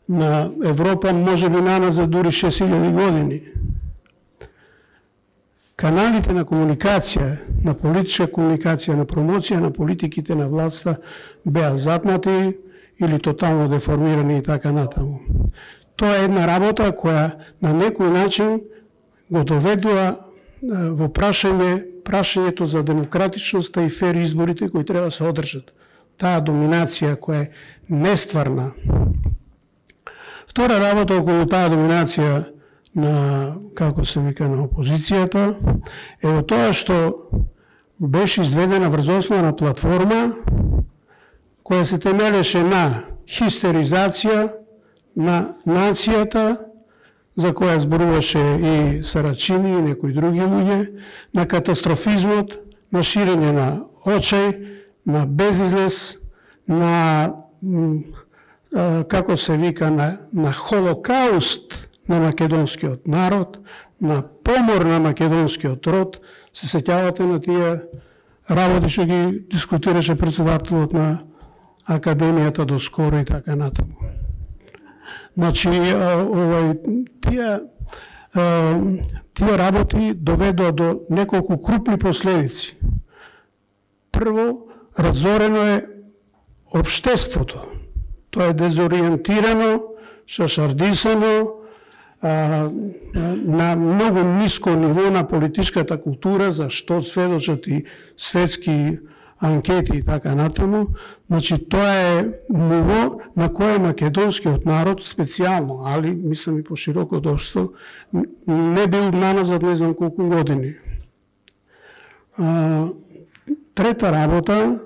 на Европа, може би наназад дури 6000 години. Каналите на комуникација, на политичка комуникација, на промоција на политиките на власта беа запнати или тотално деформирани и така натаму. Тоа е една работа која на некој начин го доведува во прашањето за демократичноста и фер изборите кои треба да се одржат. Таа доминација која е нестварна. Втора работа околу таа доминација на, како се вика, на опозицијата, е тоа што беше изведена врз основа на платформа која се темелеше на хистеризација на нацијата, за која зборуваше и Сарачини и некои други луѓе, на катастрофизмот, на ширење на очај, на безизлез, на, како се вика, на холокауст на македонскиот народ, на помор на македонскиот род. Се сеќавате на тие работи што ги дискутираше председателот на Академијата доскоро и така натаму. Значи, тие работи доведоа до неколку крупни последици. Прво, разорено е општеството. Тоа е дезориентирано, шашардисано, на многу ниско ниво на политичката култура, за што сведочат и светски анкети и така натаму. Значи, тоа е ниво на кое македонскиот народ специјално, али мислам и по широко општество, не бил наназад не знам колку години. Трета работа,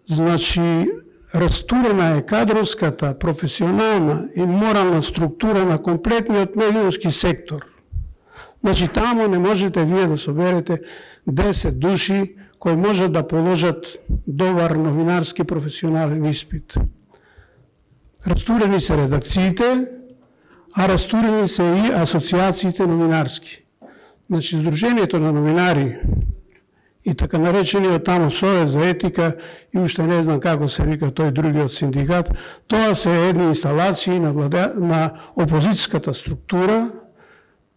значи, растурена е кадровската, професионална и морална структура на комплетниот медиумски сектор. Значи, таму не можете вие да соберете 10 души кои можат да положат добар новинарски професионален испит. Растурени се редакциите, а растурени се и асоциациите новинарски. Значи, Сдруженијето на новинари и така наречениот таму Совет за етика и уште не знам како се вика тој другиот синдикат, тоа се едни инсталации на опозицијската структура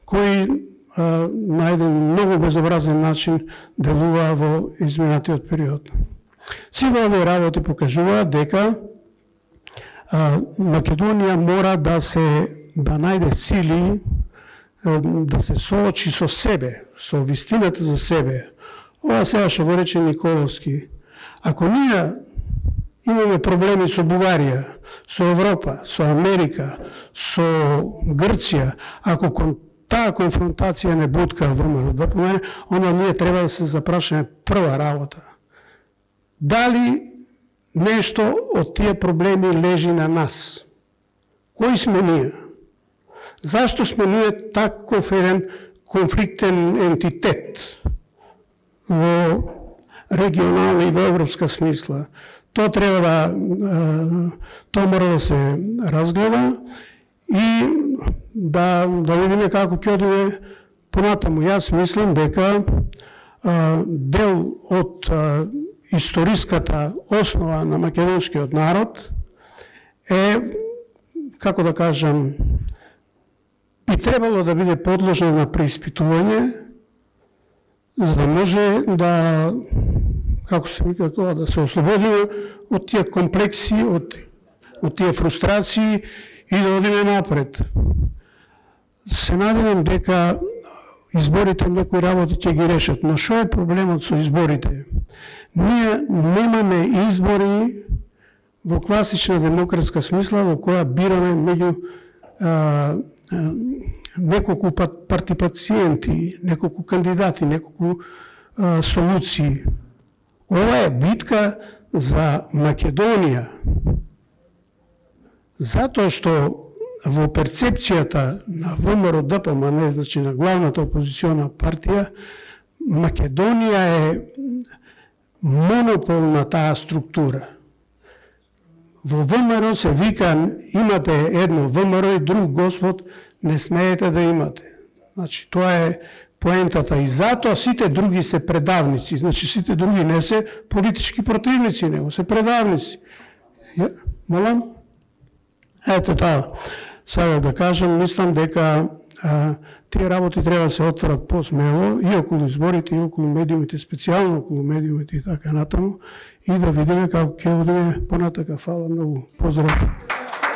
кои на еден многу безобразен начин делува во изминатиот период. Сите овие работи покажуваат дека Македонија мора да најде сили да се соочи со себе, со вистината за себе. Ова сега што го рече Николовски. Ако ние имаме проблеми со Бугарија, со Европа, со Америка, со Грција, ако таа конфронтација не бутка ВМРО-ДПМН, onda ние треба да се запрашаме прва работа. Дали нешто од тие проблеми лежи на нас? Кои сме ние? Зашто сме ние таков еден конфликтен ентитет во регионална и во европска смисла? Тоа треба тоа мора да се разгледа и да видиме како ќе одиме понатаму. Јас мислам дека дел од историската основа на македонскиот народ е, како да кажам, би требало да биде подложено на преиспитување, за да може да, како се вика тоа, да се ослободиме од тие комплекси, од тие фрустрации и да одиме напред. Се надевам дека изборите некои работи ќе ги решат, но што е проблемот со изборите? Ние немаме избори во класична демократска смисла во која бираме меѓу неколку партиципанти, неколку кандидати, неколку солуции. Ова е битка за Македонија. Затоа што во перцепцијата на ВМРО-ДПМН, значи на главната опозициона партија, Македонија е монопол на таа структура. Во ВМРО се вика, имате едно ВМРО и друг господ, не смеете да имате. Значи, тоа е поентата и затоа сите други се предавници. Значи, сите други не се политички противници, него се предавници. Молам? Ето тоа. Сега да кажам, мислам дека тие работи треба да се отворат посмело и околу изборите, и околу медиумите, специјално околу медиумите и така натаму, и да видиме како ќе одиме понатака. Фала многу. Поздрав.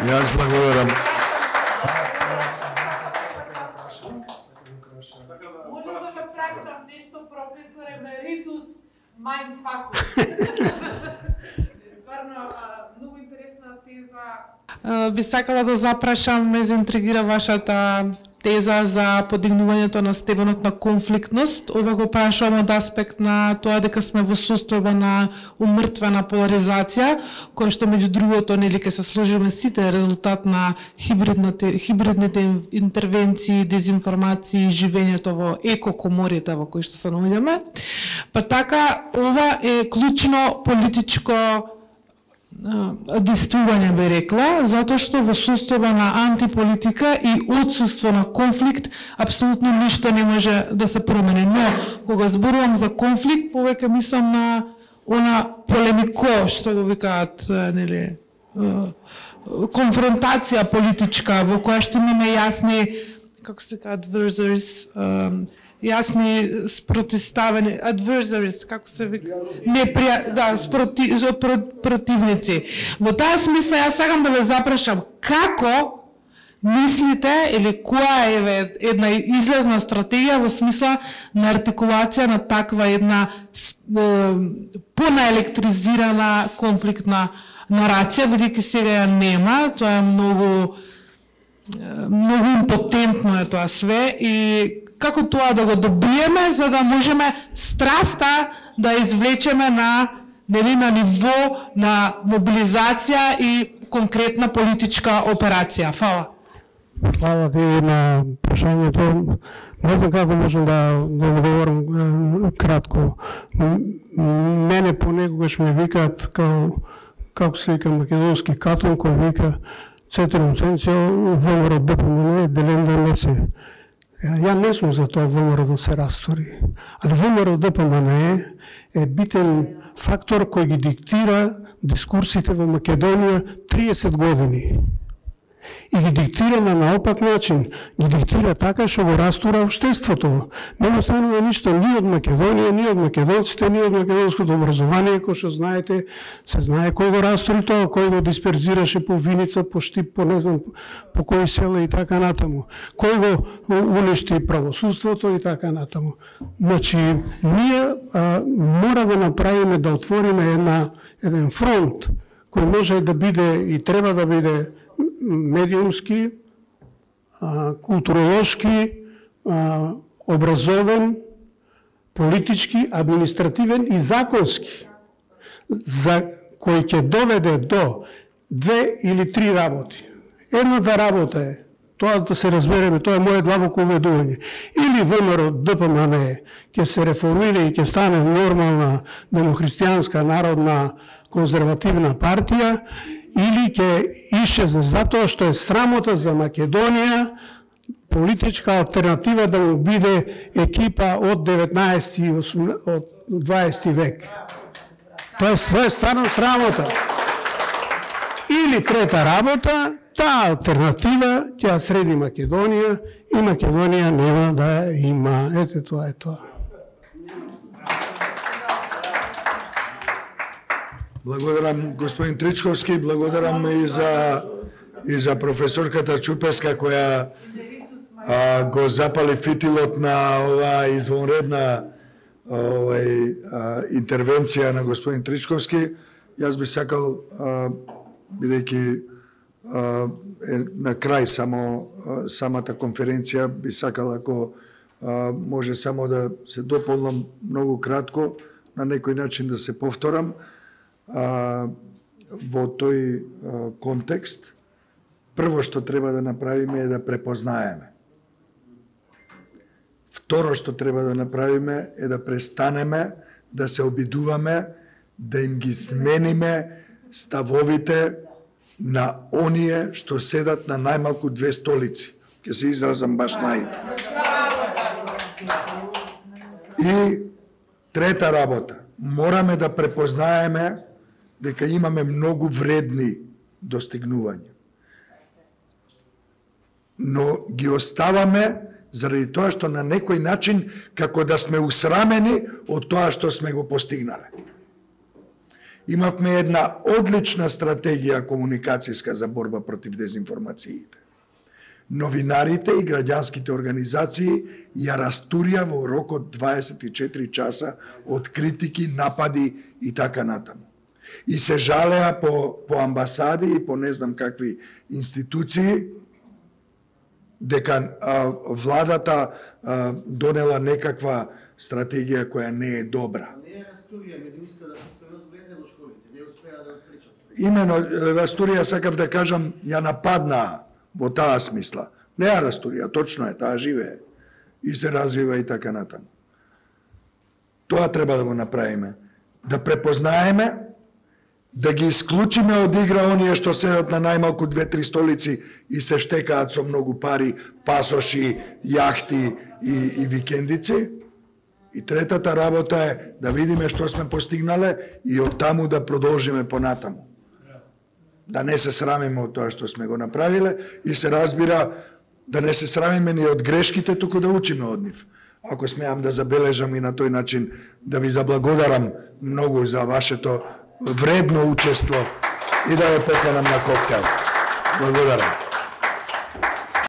Јас благодарам. да ве прашам нешто, професор емеритус Майндфакус. Стварно, многу интересна теза. Би сакала да запрашам, ме заинтригира вашата теза за подигнувањето на степенот на конфликтност. Ова го прашувам од аспект на тоа дека сме во состојба на умртвена поларизација, која што меѓу другото нели ќе се сложиме сите резултат на хибридните интервенции, дезинформации, живењето во екокоморите во кои што се наоѓаме. Па така, ова е клучно политичко действување, би рекла, затоа што во состојба на антиполитика и отсуство на конфликт апсолутно ништо не може да се промени. Но кога зборувам за конфликт, повеќе мислам на она полемико што го викаат, нели, конфронтација политичка во која што имаме јасни, како се кажа, adversaries, јасни спротивставени, adversaries, како се вика? Противници. Во таа смисла, јас сакам да ве запрашам, како мислите, или која е една излезна стратегија во смисла на артикулација на таква една понаелектризирана конфликтна нарација, бидејќи сега ја нема, тоа е многу импотентно е тоа све, и како тоа да го добиеме, за да можеме страста да извлечеме на ниво на мобилизација и конкретна политичка операција. Фала. Фала ти на прашањето. Не знам како можам да одговорам кратко. Мене понекогаш ме викаат како се вика македонски Катон, кој вика Цетрум Ценцио, ВМРО ДПМН, делен да не се. Ја не сум за тоа ВМРО да се растори, али ВМРО ДПМН е битен фактор кој ги диктира дискурсите во Македонија 30 години. И ги диктира на наопак начин, ги диктира така што го растура општеството. Не останува ништо ни од Македонија, ни од македонците, ни од македонското образование, кој што знаете, се знае кој го растури тоа, кој го дисперзираше по Виница, по Штип, по не знам, по кои села и така натаму. Кој го уништи правосудството и така натаму. Значи, ние мора да направиме, да отвориме еден фронт, кој може да биде и треба да биде медиумски, културолошки, образовен, политички, административен и законски, за кој ќе доведе до 2 или 3 работи. Едната работа е, тоа да се разбереме, тоа е моје длабоко убедување. Или ВМРО ДПМН ќе се реформира и ќе стане нормална демохристијанска народна конзервативна партија, или ќе исчезне затоа што е срамота за Македонија политичка алтернатива да му биде екипа од 19 и од 20 век. Тоа е стварно срамота. Или трета работа, таа алтернатива ќе ја среди Македонија и Македонија нема да има. Ете, тоа е тоа. Благодарам господин Тричковски, благодарам и за професорката Чупеска која го запали фитилот на оваа извонредна интервенција на господин Тричковски. Јас би сакал, бидејќи на крај самата конференција, би сакал ако може само да се дополнам многу кратко, на некој начин да се повторам. Во тој контекст, прво што треба да направиме е да препознаеме. Второ што треба да направиме е да престанеме да се обидуваме да им ги смениме ставовите на оние што седат на најмалку 2 столици. Ке се изразам баш И трета работа, мораме да препознаеме дека имаме многу вредни достигнувања. Но ги оставаме заради тоа што на некој начин како да сме усрамени од тоа што сме го постигнале. Имавме една одлична стратегија комуникацијска за борба против дезинформациите. Новинарите и граѓанските организации ја растурија во рок од 24 часа од критики, напади и така натаму. И се жалеа по амбасади и по не знам какви институции дека владата донела некаква стратегија која не е добра. Не е растурија медиумска да писменост влезе во школите, не успеа да ја спречат. Имено растурија сакав да кажам ја нападнаа во таа смисла. Не ја растурија, точно е, таа живее и се развива и така натаму. Тоа треба да го направиме, да препознаеме, да ги исклучиме од игра оние што седат на најмалку 2-3 столици и се штекаат со многу пари, пасоши, јахти и викендици. И третата работа е да видиме што сме постигнале и од таму да продолжиме понатаму. Да не се срамиме од тоа што сме го направиле и се разбира да не се срамиме ни од грешките, туку да учиме од нив. Ако смеам да забележам и на тој начин да ви заблагодарам многу за вашето вредно учество и да ве поканам на коктел. Благодарам.